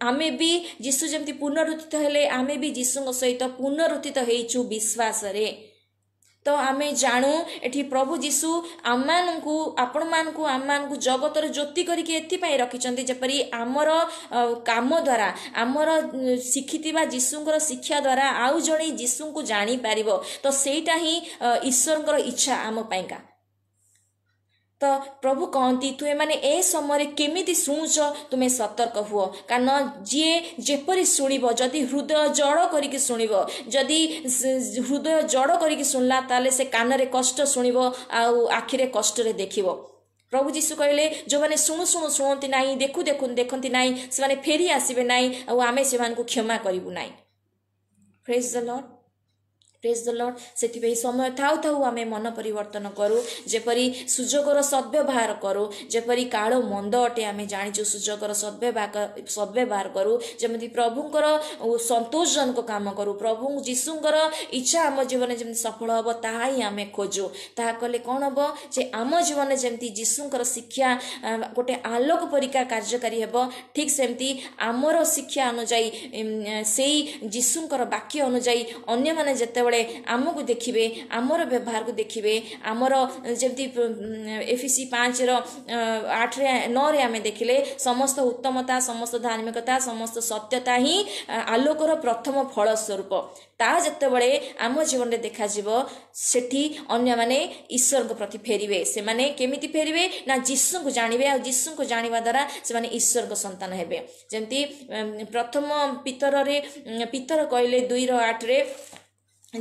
ଆମେ ବି ଯୀଶୁ ଯେମିତି ପୁନରୁତ୍ଥିତ ହେଲେ, ଆମେ ବି ଯୀଶୁଙ୍କ ସହିତ ପୁନରୁତ୍ଥିତ ହେଇଛୁ ବିଶ୍ୱାସରେ। ତ ଆମେ ଜାଣୁ ଏଠି ପ୍ରଭୁ ଯୀଶୁ ଆମମାନଙ୍କୁ, ଆପଣମାନଙ୍କୁ, ଆମମାନଙ୍କୁ ଜଗତର ଜ୍ୟୋତି କରିକି ଏଥିପାଇଁ ରଖିଛନ୍ତି, ଯେପରି ଆମର କାମ ଦ୍ୱାରା, ଆମର ଶିଖିଥିବା ଯୀଶୁଙ୍କର ଶିକ୍ଷା ଦ୍ୱାରା ଆଉ ଜଣେ ଯୀଶୁଙ୍କୁ ଜାଣିପାରିବ। ତ ସେଇଟା ହିଁ ଈଶ୍ୱରଙ୍କର ଇଚ୍ଛା ଆମ ପାଇଁକା। ତ ପ୍ରଭୁ କହନ୍ତି, ତୁମେମାନେ ଏ ସମୟରେ କେମିତି ଶୁଣୁଛ, ତୁମେ ସତର୍କ ହୁଅ। କାରଣ ଯିଏ ଯେପରି ଶୁଣିବ, ଯଦି ହୃଦୟ ଜଡ଼ କରିକି ଶୁଣିବ, ଯଦି ହୃଦୟ ଜଡ଼ କରିକି ଶୁଣିଲା, ତାହେଲେ ସେ କାନରେ କଷ୍ଟ ଶୁଣିବ ଆଉ ଆଖିରେ କଷ୍ଟରେ ଦେଖିବ। ପ୍ରଭୁ ଯୀଶୁ କହିଲେ, ଯେଉଁମାନେ ଶୁଣୁ ଶୁଣୁ ଶୁଣନ୍ତି ନାହିଁ, ଦେଖୁ ଦେଖୁ ଦେଖନ୍ତି ନାହିଁ, ସେମାନେ ଫେରି ଆସିବେ ନାହିଁ, ଆଉ ଆମେ ସେମାନଙ୍କୁ କ୍ଷମା କରିବୁ ନାହିଁ। ପ୍ରେଜ୍ ଦ ଲର୍ଡ, ପ୍ରେଜ୍ ଦ ଲର୍ଡ। ସେଥିପାଇଁ ସମୟ ଥାଉ ଥାଉ ଆମେ ମନ ପରିବର୍ତ୍ତନ କରୁ, ଯେପରି ସୁଯୋଗର ସଦ୍ବ୍ୟବହାର କରୁ, ଯେପରି କାଳ ମନ୍ଦ ଅଟେ ଆମେ ଜାଣିଛୁ, ସୁଯୋଗର ସଦ୍ବ୍ୟବହାର ସଦ୍ବ୍ୟବହାର କରୁ, ଯେମିତି ପ୍ରଭୁଙ୍କର ସନ୍ତୋଷଜନକ କାମ କରୁ, ପ୍ରଭୁ ଯୀଶୁଙ୍କର ଇଚ୍ଛା ଆମ ଜୀବନରେ ଯେମିତି ସଫଳ ହେବ ତାହା ହିଁ ଆମେ ଖୋଜୁ। ତାହା କଲେ କ'ଣ ହେବ ଯେ ଆମ ଜୀବନରେ ଯେମିତି ଯୀଶୁଙ୍କର ଶିକ୍ଷା ଗୋଟେ ଆଲୋକ ପରିକା କାର୍ଯ୍ୟକାରୀ ହେବ, ଠିକ୍ ସେମିତି ଆମର ଶିକ୍ଷା ଅନୁଯାୟୀ, ସେଇ ଯୀଶୁଙ୍କର ବାକ୍ୟ ଅନୁଯାୟୀ ଅନ୍ୟମାନେ ଯେତେବେଳେ ଆମକୁ ଦେଖିବେ, ଆମର ବ୍ୟବହାରକୁ ଦେଖିବେ, ଆମର ଯେମିତି ଏଫିସି ପାଞ୍ଚର ଆଠରେ ନଅରେ ଆମେ ଦେଖିଲେ, ସମସ୍ତ ଉତ୍ତମତା, ସମସ୍ତ ଧାର୍ମିକତା, ସମସ୍ତ ସତ୍ୟତା ହିଁ ଆଲୋକର ପ୍ରଥମ ଫଳ ସ୍ୱରୂପ। ତା ଯେତେବେଳେ ଆମ ଜୀବନରେ ଦେଖାଯିବ, ସେଠି ଅନ୍ୟମାନେ ଈଶ୍ୱରଙ୍କ ପ୍ରତି ଫେରିବେ। ସେମାନେ କେମିତି ଫେରିବେ ନା ଯୀଶୁଙ୍କୁ ଜାଣିବେ, ଆଉ ଯୀଶୁଙ୍କୁ ଜାଣିବା ଦ୍ୱାରା ସେମାନେ ଈଶ୍ୱରଙ୍କ ସନ୍ତାନ ହେବେ। ଯେମିତି ପ୍ରଥମ ପିତରରେ ପିତର କହିଲେ ଦୁଇର ଆଠରେ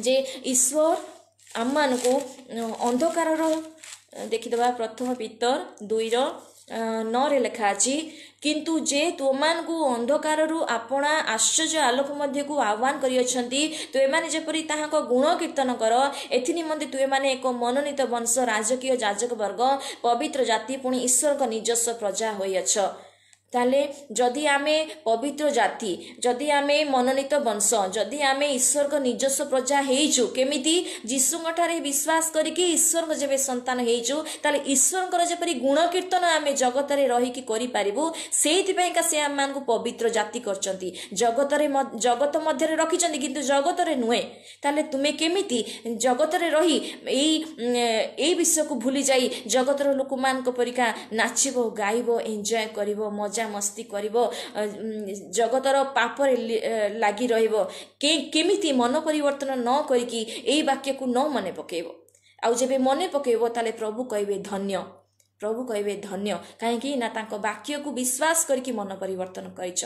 ଯେ ଈଶ୍ୱର ଆମମାନଙ୍କୁ ଅନ୍ଧକାରର, ଦେଖିଦେବା ପ୍ରଥମ ପିତର ଦୁଇର ନଅରେ ଲେଖା ଅଛି, କିନ୍ତୁ ଯେ ତୁମମାନଙ୍କୁ ଅନ୍ଧକାରରୁ ଆପଣା ଆଶ୍ଚର୍ଯ୍ୟ ଆଲୋକ ମଧ୍ୟକୁ ଆହ୍ୱାନ କରିଅଛନ୍ତି, ତୁମେମାନେ ଯେପରି ତାହାଙ୍କ ଗୁଣ କୀର୍ତ୍ତନ କର, ଏଥି ନିମନ୍ତେ ତୁମେମାନେ ଏକ ମନୋନୀତ ବଂଶ, ରାଜକୀୟ ଯାଜକ ବର୍ଗ, ପବିତ୍ର ଜାତି, ପୁଣି ଈଶ୍ୱରଙ୍କ ନିଜସ୍ୱ ପ୍ରଜା ହୋଇଅଛ। ତାହେଲେ ଯଦି ଆମେ ପବିତ୍ର ଜାତି, ଯଦି ଆମେ ମନୋନୀତ ବଂଶ, ଯଦି ଆମେ ଈଶ୍ୱରଙ୍କ ନିଜସ୍ୱ ପ୍ରଜା ହେଇଛୁ, କେମିତି? ଯୀଶୁଙ୍କ ଠାରେ ବିଶ୍ୱାସ କରିକି ଈଶ୍ୱରଙ୍କ ଯେବେ ସନ୍ତାନ ହେଇଛୁ, ତାହେଲେ ଈଶ୍ୱରଙ୍କର ଯେପରି ଗୁଣ କୀର୍ତ୍ତନ ଆମେ ଜଗତରେ ରହିକି କରିପାରିବୁ, ସେଇଥିପାଇଁକା ସେ ଆମମାନଙ୍କୁ ପବିତ୍ର ଜାତି କରିଛନ୍ତି, ଜଗତରେ ଜଗତ ମଧ୍ୟରେ ରଖିଛନ୍ତି, କିନ୍ତୁ ଜଗତରେ ନୁହେଁ। ତାହେଲେ ତୁମେ କେମିତି ଜଗତରେ ରହି ଏଇ ଏଇ ବିଷୟକୁ ଭୁଲି ଯାଇ ଜଗତର ଲୋକମାନଙ୍କ ପରିକା ନାଚିବ, ଗାଇବ, ଏନ୍ଜୟ କରିବ, ମଜା ମସ୍ତି କରିବ, ଜଗତର ପାପରେ ଲାଗି ରହିବ? କେମିତି ମନ ପରିବର୍ତ୍ତନ ନ କରିକି ଏଇ ବାକ୍ୟକୁ ନ ମନେ ପକେଇବ? ଆଉ ଯେବେ ମନେ ପକେଇବ, ତାହେଲେ ପ୍ରଭୁ କହିବେ ଧନ୍ୟ, ପ୍ରଭୁ କହିବେ ଧନ୍ୟ। କାହିଁକି ନା ତାଙ୍କ ବାକ୍ୟକୁ ବିଶ୍ୱାସ କରିକି ମନ ପରିବର୍ତ୍ତନ କରିଛ।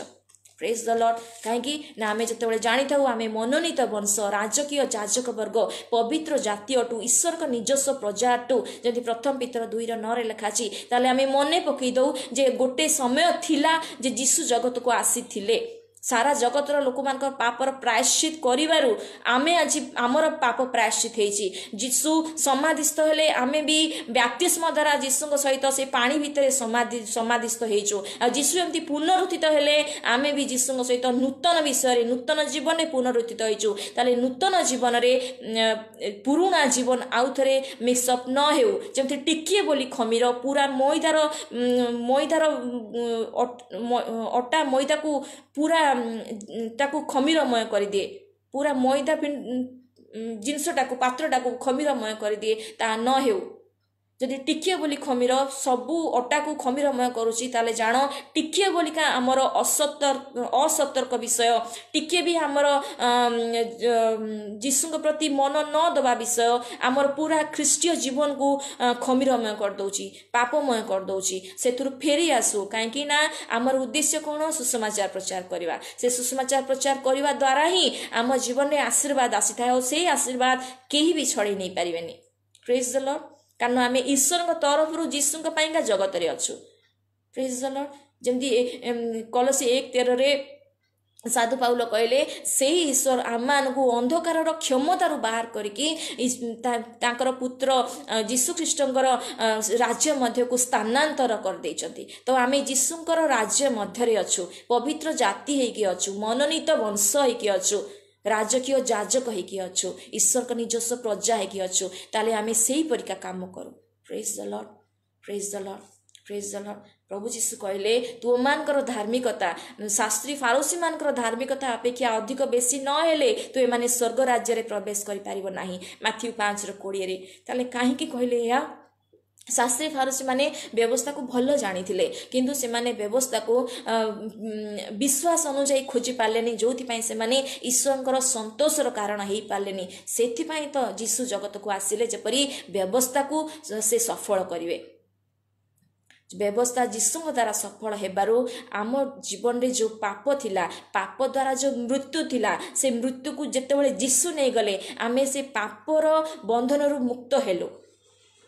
ପ୍ରେଜ୍ ଦ ଲର୍ଡ। କାହିଁକି ନା ଆମେ ଯେତେବେଳେ ଜାଣିଥାଉ ଆମେ ମନୋନୀତ ବଂଶ, ରାଜକୀୟ ଯାଜକ ବର୍ଗ, ପବିତ୍ର ଜାତି ଅଟୁ, ଈଶ୍ୱରଙ୍କ ନିଜସ୍ୱ ପ୍ରଜା ଅଟୁ, ଯେମିତି ପ୍ରଥମ ପିତର ଦୁଇର ନଅରେ ଲେଖା ଅଛି, ତାହେଲେ ଆମେ ମନେ ପକେଇ ଦଉ ଯେ ଗୋଟେ ସମୟ ଥିଲା ଯେ ଯୀଶୁ ଜଗତକୁ ଆସିଥିଲେ ସାରା ଜଗତର ଲୋକମାନଙ୍କର ପାପର ପ୍ରାୟଶ୍ଚିତ କରିବାରୁ ଆମେ ଆଜି ଆମର ପାପ ପ୍ରାୟଶ୍ଚିତ ହେଇଛି। ଯୀଶୁ ସମାଧିସ୍ଥ ହେଲେ, ଆମେ ବି ବ୍ୟାପ୍ତିସ୍ମ ଦ୍ୱାରା ଯୀଶୁଙ୍କ ସହିତ ସେ ପାଣି ଭିତରେ ସମାଧି ସମାଧିସ୍ଥ ହେଇଛୁ। ଆଉ ଯୀଶୁ ଏମିତି ପୁନରୁତ୍ଥିତ ହେଲେ, ଆମେ ବି ଯୀଶୁଙ୍କ ସହିତ ନୂତନ ବିଷୟରେ, ନୂତନ ଜୀବନରେ ପୁନରୁତ୍ଥିତ ହେଇଛୁ। ତାହେଲେ ନୂତନ ଜୀବନରେ ପୁରୁଣା ଜୀବନ ଆଉ ଥରେ ମିକ୍ସଅପ୍ ନ ହେଉ, ଯେମିତି ଟିକିଏ ବୋଲି ଖମିର ପୁରା ମଇଦାର ମଇଦାର ଅଟା ମଇଦାକୁ ପୁରା ତାକୁ ଖମିରମୟ କରିଦିଏ, ପୁରା ମଇଦା ଜିନିଷଟାକୁ, ପାତ୍ରଟାକୁ ଖମିରମୟ କରିଦିଏ, ତାହା ନ ହେଉ। ଯଦି ଟିକିଏ ବୋଲି ଖମିର ସବୁ ଅଟାକୁ ଖମିରମୟ କରୁଛି, ତାହେଲେ ଜାଣ ଟିକିଏ ବୋଲିକା ଆମର ଅସତର୍କ ଅସତର୍କ ବିଷୟ, ଟିକିଏ ବି ଆମର ଯୀଶୁଙ୍କ ପ୍ରତି ମନ ନ ଦେବା ବିଷୟ ଆମର ପୁରା ଖ୍ରୀଷ୍ଟୀୟ ଜୀବନକୁ ଖମିରମୟ କରିଦେଉଛି, ପାପମୟ କରିଦେଉଛି। ସେଥିରୁ ଫେରି ଆସୁ। କାହିଁକି ନା ଆମର ଉଦ୍ଦେଶ୍ୟ କ'ଣ? ସୁସମାଚାର ପ୍ରଚାର କରିବା। ସେ ସୁସମାଚାର ପ୍ରଚାର କରିବା ଦ୍ୱାରା ହିଁ ଆମ ଜୀବନରେ ଆଶୀର୍ବାଦ ଆସିଥାଏ, ଆଉ ସେଇ ଆଶୀର୍ବାଦ କେହି ବି ଛଡ଼େଇ ନେଇପାରିବେନି। ପ୍ରେଜ୍ ଦ ଲର୍ଡ। କାରଣ ଆମେ ଈଶ୍ୱରଙ୍କ ତରଫରୁ ଯୀଶୁଙ୍କ ପାଇଁକା ଜଗତରେ ଅଛୁ। ପ୍ରେଜ୍ ଦ ଲର୍ଡ। ଯେମିତି କଲସି ଏକ ତେରରେ ସାଧୁ ପାଉଲ କହିଲେ, ସେଇ ଈଶ୍ୱର ଆମମାନଙ୍କୁ ଅନ୍ଧକାରର କ୍ଷମତାରୁ ବାହାର କରିକି ତାଙ୍କର ପୁତ୍ର ଯୀଶୁଖ୍ରୀଷ୍ଟଙ୍କର ରାଜ୍ୟ ମଧ୍ୟକୁ ସ୍ଥାନାନ୍ତର କରିଦେଇଛନ୍ତି। ତ ଆମେ ଯୀଶୁଙ୍କର ରାଜ୍ୟ ମଧ୍ୟରେ ଅଛୁ, ପବିତ୍ର ଜାତି ହେଇକି ଅଛୁ, ମନୋନୀତ ବଂଶ ହେଇକି ଅଛୁ, ରାଜକୀୟ ଯାଜକ ହେଇକି ଅଛୁ, ଈଶ୍ୱରଙ୍କ ନିଜସ୍ୱ ପ୍ରଜା ହେଇକି ଅଛୁ। ତାହେଲେ ଆମେ ସେଇପରିକା କାମ କରୁ। ପ୍ରେଜ୍ ଦ ଲର୍ଡ, ପ୍ରେଜ୍ ଦ ଲର୍ଡ, ପ୍ରେଜ୍ ଦ ଲର୍ଡ। ପ୍ରଭୁ ଯୀଶୁ କହିଲେ, ତୁମମାନଙ୍କର ଧାର୍ମିକତା ଶାସ୍ତ୍ରୀ ଫାରୋସୀମାନଙ୍କର ଧାର୍ମିକତା ଅପେକ୍ଷା ଅଧିକ ବେଶୀ ନ ହେଲେ ତୁମେମାନେ ସ୍ୱର୍ଗ ରାଜ୍ୟରେ ପ୍ରବେଶ କରିପାରିବ ନାହିଁ, ମାଥିଉ ପାଞ୍ଚର କୋଡ଼ିଏରେ। ତାହେଲେ କାହିଁକି କହିଲେ ଏହା? ଶାସ୍ତ୍ରୀ ଫାରସୀମାନେ ବ୍ୟବସ୍ଥାକୁ ଭଲ ଜାଣିଥିଲେ, କିନ୍ତୁ ସେମାନେ ବ୍ୟବସ୍ଥାକୁ ବିଶ୍ୱାସ ଅନୁଯାୟୀ ଖୋଜି ପାରିଲେନି, ଯେଉଁଥିପାଇଁ ସେମାନେ ଈଶ୍ୱରଙ୍କର ସନ୍ତୋଷର କାରଣ ହେଇପାରିଲେନି। ସେଥିପାଇଁ ତ ଯୀଶୁ ଜଗତକୁ ଆସିଲେ, ଯେପରି ବ୍ୟବସ୍ଥାକୁ ସେ ସଫଳ କରିବେ। ବ୍ୟବସ୍ଥା ଯୀଶୁଙ୍କ ଦ୍ୱାରା ସଫଳ ହେବାରୁ ଆମ ଜୀବନରେ ଯେଉଁ ପାପ ଥିଲା, ପାପ ଦ୍ୱାରା ଯେଉଁ ମୃତ୍ୟୁ ଥିଲା, ସେ ମୃତ୍ୟୁକୁ ଯେତେବେଳେ ଯୀଶୁ ନେଇଗଲେ, ଆମେ ସେ ପାପର ବନ୍ଧନରୁ ମୁକ୍ତ ହେଲୁ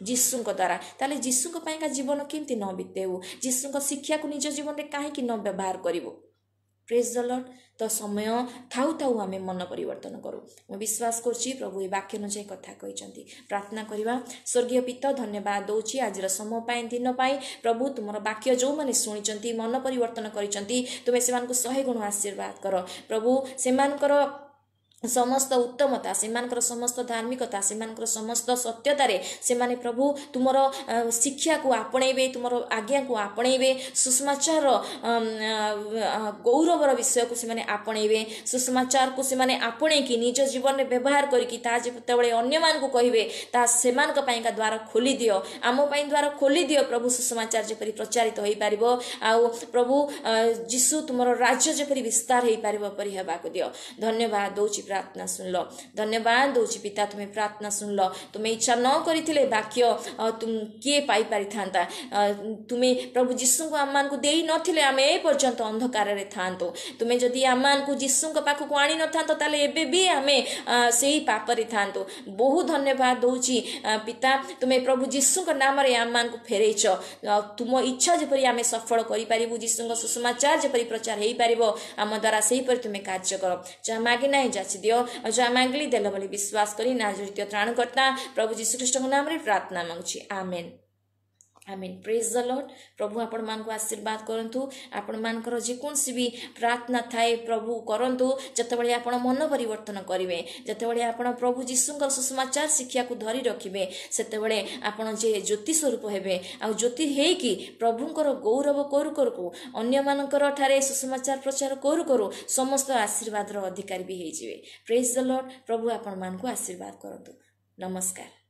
ଯୀଶୁଙ୍କ ଦ୍ୱାରା। ତାହେଲେ ଯୀଶୁଙ୍କ ପାଇଁକା ଜୀବନ କେମିତି ନ ବିତେଇବୁ? ଯୀଶୁଙ୍କ ଶିକ୍ଷାକୁ ନିଜ ଜୀବନରେ କାହିଁକି ନ ବ୍ୟବହାର କରିବୁ? Praise the Lord. ତ ସମୟ ଥାଉ ଥାଉ ଆମେ ମନ ପରିବର୍ତ୍ତନ କରୁ। ମୁଁ ବିଶ୍ୱାସ କରୁଛି ପ୍ରଭୁ ଏ ବାକ୍ୟ ଅନୁଯାୟୀ କଥା କହିଛନ୍ତି। ପ୍ରାର୍ଥନା କରିବା। ସ୍ୱର୍ଗୀୟ ପିତା, ଧନ୍ୟବାଦ ଦେଉଛି ଆଜିର ସମୟ ପାଇଁ, ଦିନ ପାଇଁ। ପ୍ରଭୁ, ତୁମର ବାକ୍ୟ ଯେଉଁମାନେ ଶୁଣିଛନ୍ତି, ମନ ପରିବର୍ତ୍ତନ କରିଛନ୍ତି, ତୁମେ ସେମାନଙ୍କୁ ଶହେ ଗୁଣ ଆଶୀର୍ବାଦ କର। ପ୍ରଭୁ, ସେମାନଙ୍କର ସମସ୍ତ ଉତ୍ତମତା, ସେମାନଙ୍କର ସମସ୍ତ ଧାର୍ମିକତା, ସେମାନଙ୍କର ସମସ୍ତ ସତ୍ୟତାରେ ସେମାନେ ପ୍ରଭୁ ତୁମର ଶିକ୍ଷାକୁ ଆପଣେଇବେ, ତୁମର ଆଜ୍ଞାକୁ ଆପଣେଇବେ, ସୁସମାଚାରର ଗୌରବର ବିଷୟକୁ ସେମାନେ ଆପଣେଇବେ। ସୁସମାଚାରକୁ ସେମାନେ ଆପଣେଇକି ନିଜ ଜୀବନରେ ବ୍ୟବହାର କରିକି ତାହା ଯେତେବେଳେ ଅନ୍ୟମାନଙ୍କୁ କହିବେ, ତାହା ସେମାନଙ୍କ ପାଇଁକା ଦ୍ୱାର ଖୋଲିଦିଅ, ଆମ ପାଇଁ ଦ୍ୱାର ଖୋଲିଦିଅ ପ୍ରଭୁ। ସୁସମାଚାର ଯେପରି ପ୍ରଚାରିତ ହୋଇପାରିବ ଆଉ ପ୍ରଭୁ ଯୀଶୁ ତୁମର ରାଜ୍ୟ ଯେପରି ବିସ୍ତାର ହେଇପାରିବ ପରି ହେବାକୁ ଦିଅ। ଧନ୍ୟବାଦ ଦେଉଛି, ପ୍ରାର୍ଥନା ଶୁଣିଲ। ଧନ୍ୟବାଦ ଦେଉଛି ପିତା, ତୁମେ ପ୍ରାର୍ଥନା ଶୁଣିଲ। ତୁମେ ଇଚ୍ଛା ନ କରିଥିଲେ ବାକ୍ୟ କିଏ ପାଇପାରିଥାନ୍ତା? ତୁମେ ପ୍ରଭୁ ଯୀଶୁଙ୍କୁ ଆମମାନଙ୍କୁ ଦେଇନଥିଲେ ଆମେ ଏ ପର୍ଯ୍ୟନ୍ତ ଅନ୍ଧକାରରେ ଥାଆନ୍ତୁ। ତୁମେ ଯଦି ଆମମାନଙ୍କୁ ଯୀଶୁଙ୍କ ପାଖକୁ ଆଣିନଥାନ୍ତ, ତାହେଲେ ଏବେ ବି ଆମେ ସେଇ ପାପରେ ଥାଆନ୍ତୁ। ବହୁ ଧନ୍ୟବାଦ ଦେଉଛି ପିତା, ତୁମେ ପ୍ରଭୁ ଯୀଶୁଙ୍କ ନାମରେ ଆମମାନଙ୍କୁ ଫେରେଇଛ। ତୁମ ଇଚ୍ଛା ଯେପରି ଆମେ ସଫଳ କରିପାରିବୁ, ଯୀଶୁଙ୍କ ସୁସମାଚାର ଯେପରି ପ୍ରଚାର ହେଇପାରିବ ଆମ ଦ୍ୱାରା, ସେହିପରି ତୁମେ କାର୍ଯ୍ୟ କର। ଯାହା ମାଗି ନାହିଁ ଯାଚି ଦିଅ, ଆଉ ଯାହା ମାଗିଲି ଦେଲ ବୋଲି ବିଶ୍ୱାସ କରି ନାଜରିତ ତ୍ରାଣକର୍ତ୍ତା ପ୍ରଭୁ ଯୀଶୁଖ୍ରୀଷ୍ଟଙ୍କ ନାମରେ ପ୍ରାର୍ଥନା ମାଗୁଛି, ଆମେନ୍, ଆମେନ୍। Praise the Lord. ପ୍ରଭୁ ଆପଣମାନଙ୍କୁ ଆଶୀର୍ବାଦ କରନ୍ତୁ। ଆପଣମାନଙ୍କର ଯେକୌଣସି ବି ପ୍ରାର୍ଥନା ଥାଏ, ପ୍ରଭୁ କରନ୍ତୁ। ଯେତେବେଳେ ଆପଣ ମନ ପରିବର୍ତ୍ତନ କରିବେ, ଯେତେବେଳେ ଆପଣ ପ୍ରଭୁ ଯୀଶୁଙ୍କର ସୁସମାଚାର ଶିକ୍ଷାକୁ ଧରି ରଖିବେ, ସେତେବେଳେ ଆପଣ ଯେ ଜ୍ୟୋତି ସ୍ୱରୂପ ହେବେ, ଆଉ ଜ୍ୟୋତି ହେଇକି ପ୍ରଭୁଙ୍କର ଗୌରବ କରୁ କରୁ, ଅନ୍ୟମାନଙ୍କର ଠାରେ ସୁସମାଚାର ପ୍ରଚାର କରୁ କରୁ ସମସ୍ତ ଆଶୀର୍ବାଦର ଅଧିକାରୀ ବି ହେଇଯିବେ। Praise the Lord. ପ୍ରଭୁ ଆପଣମାନଙ୍କୁ ଆଶୀର୍ବାଦ କରନ୍ତୁ। ନମସ୍କାର।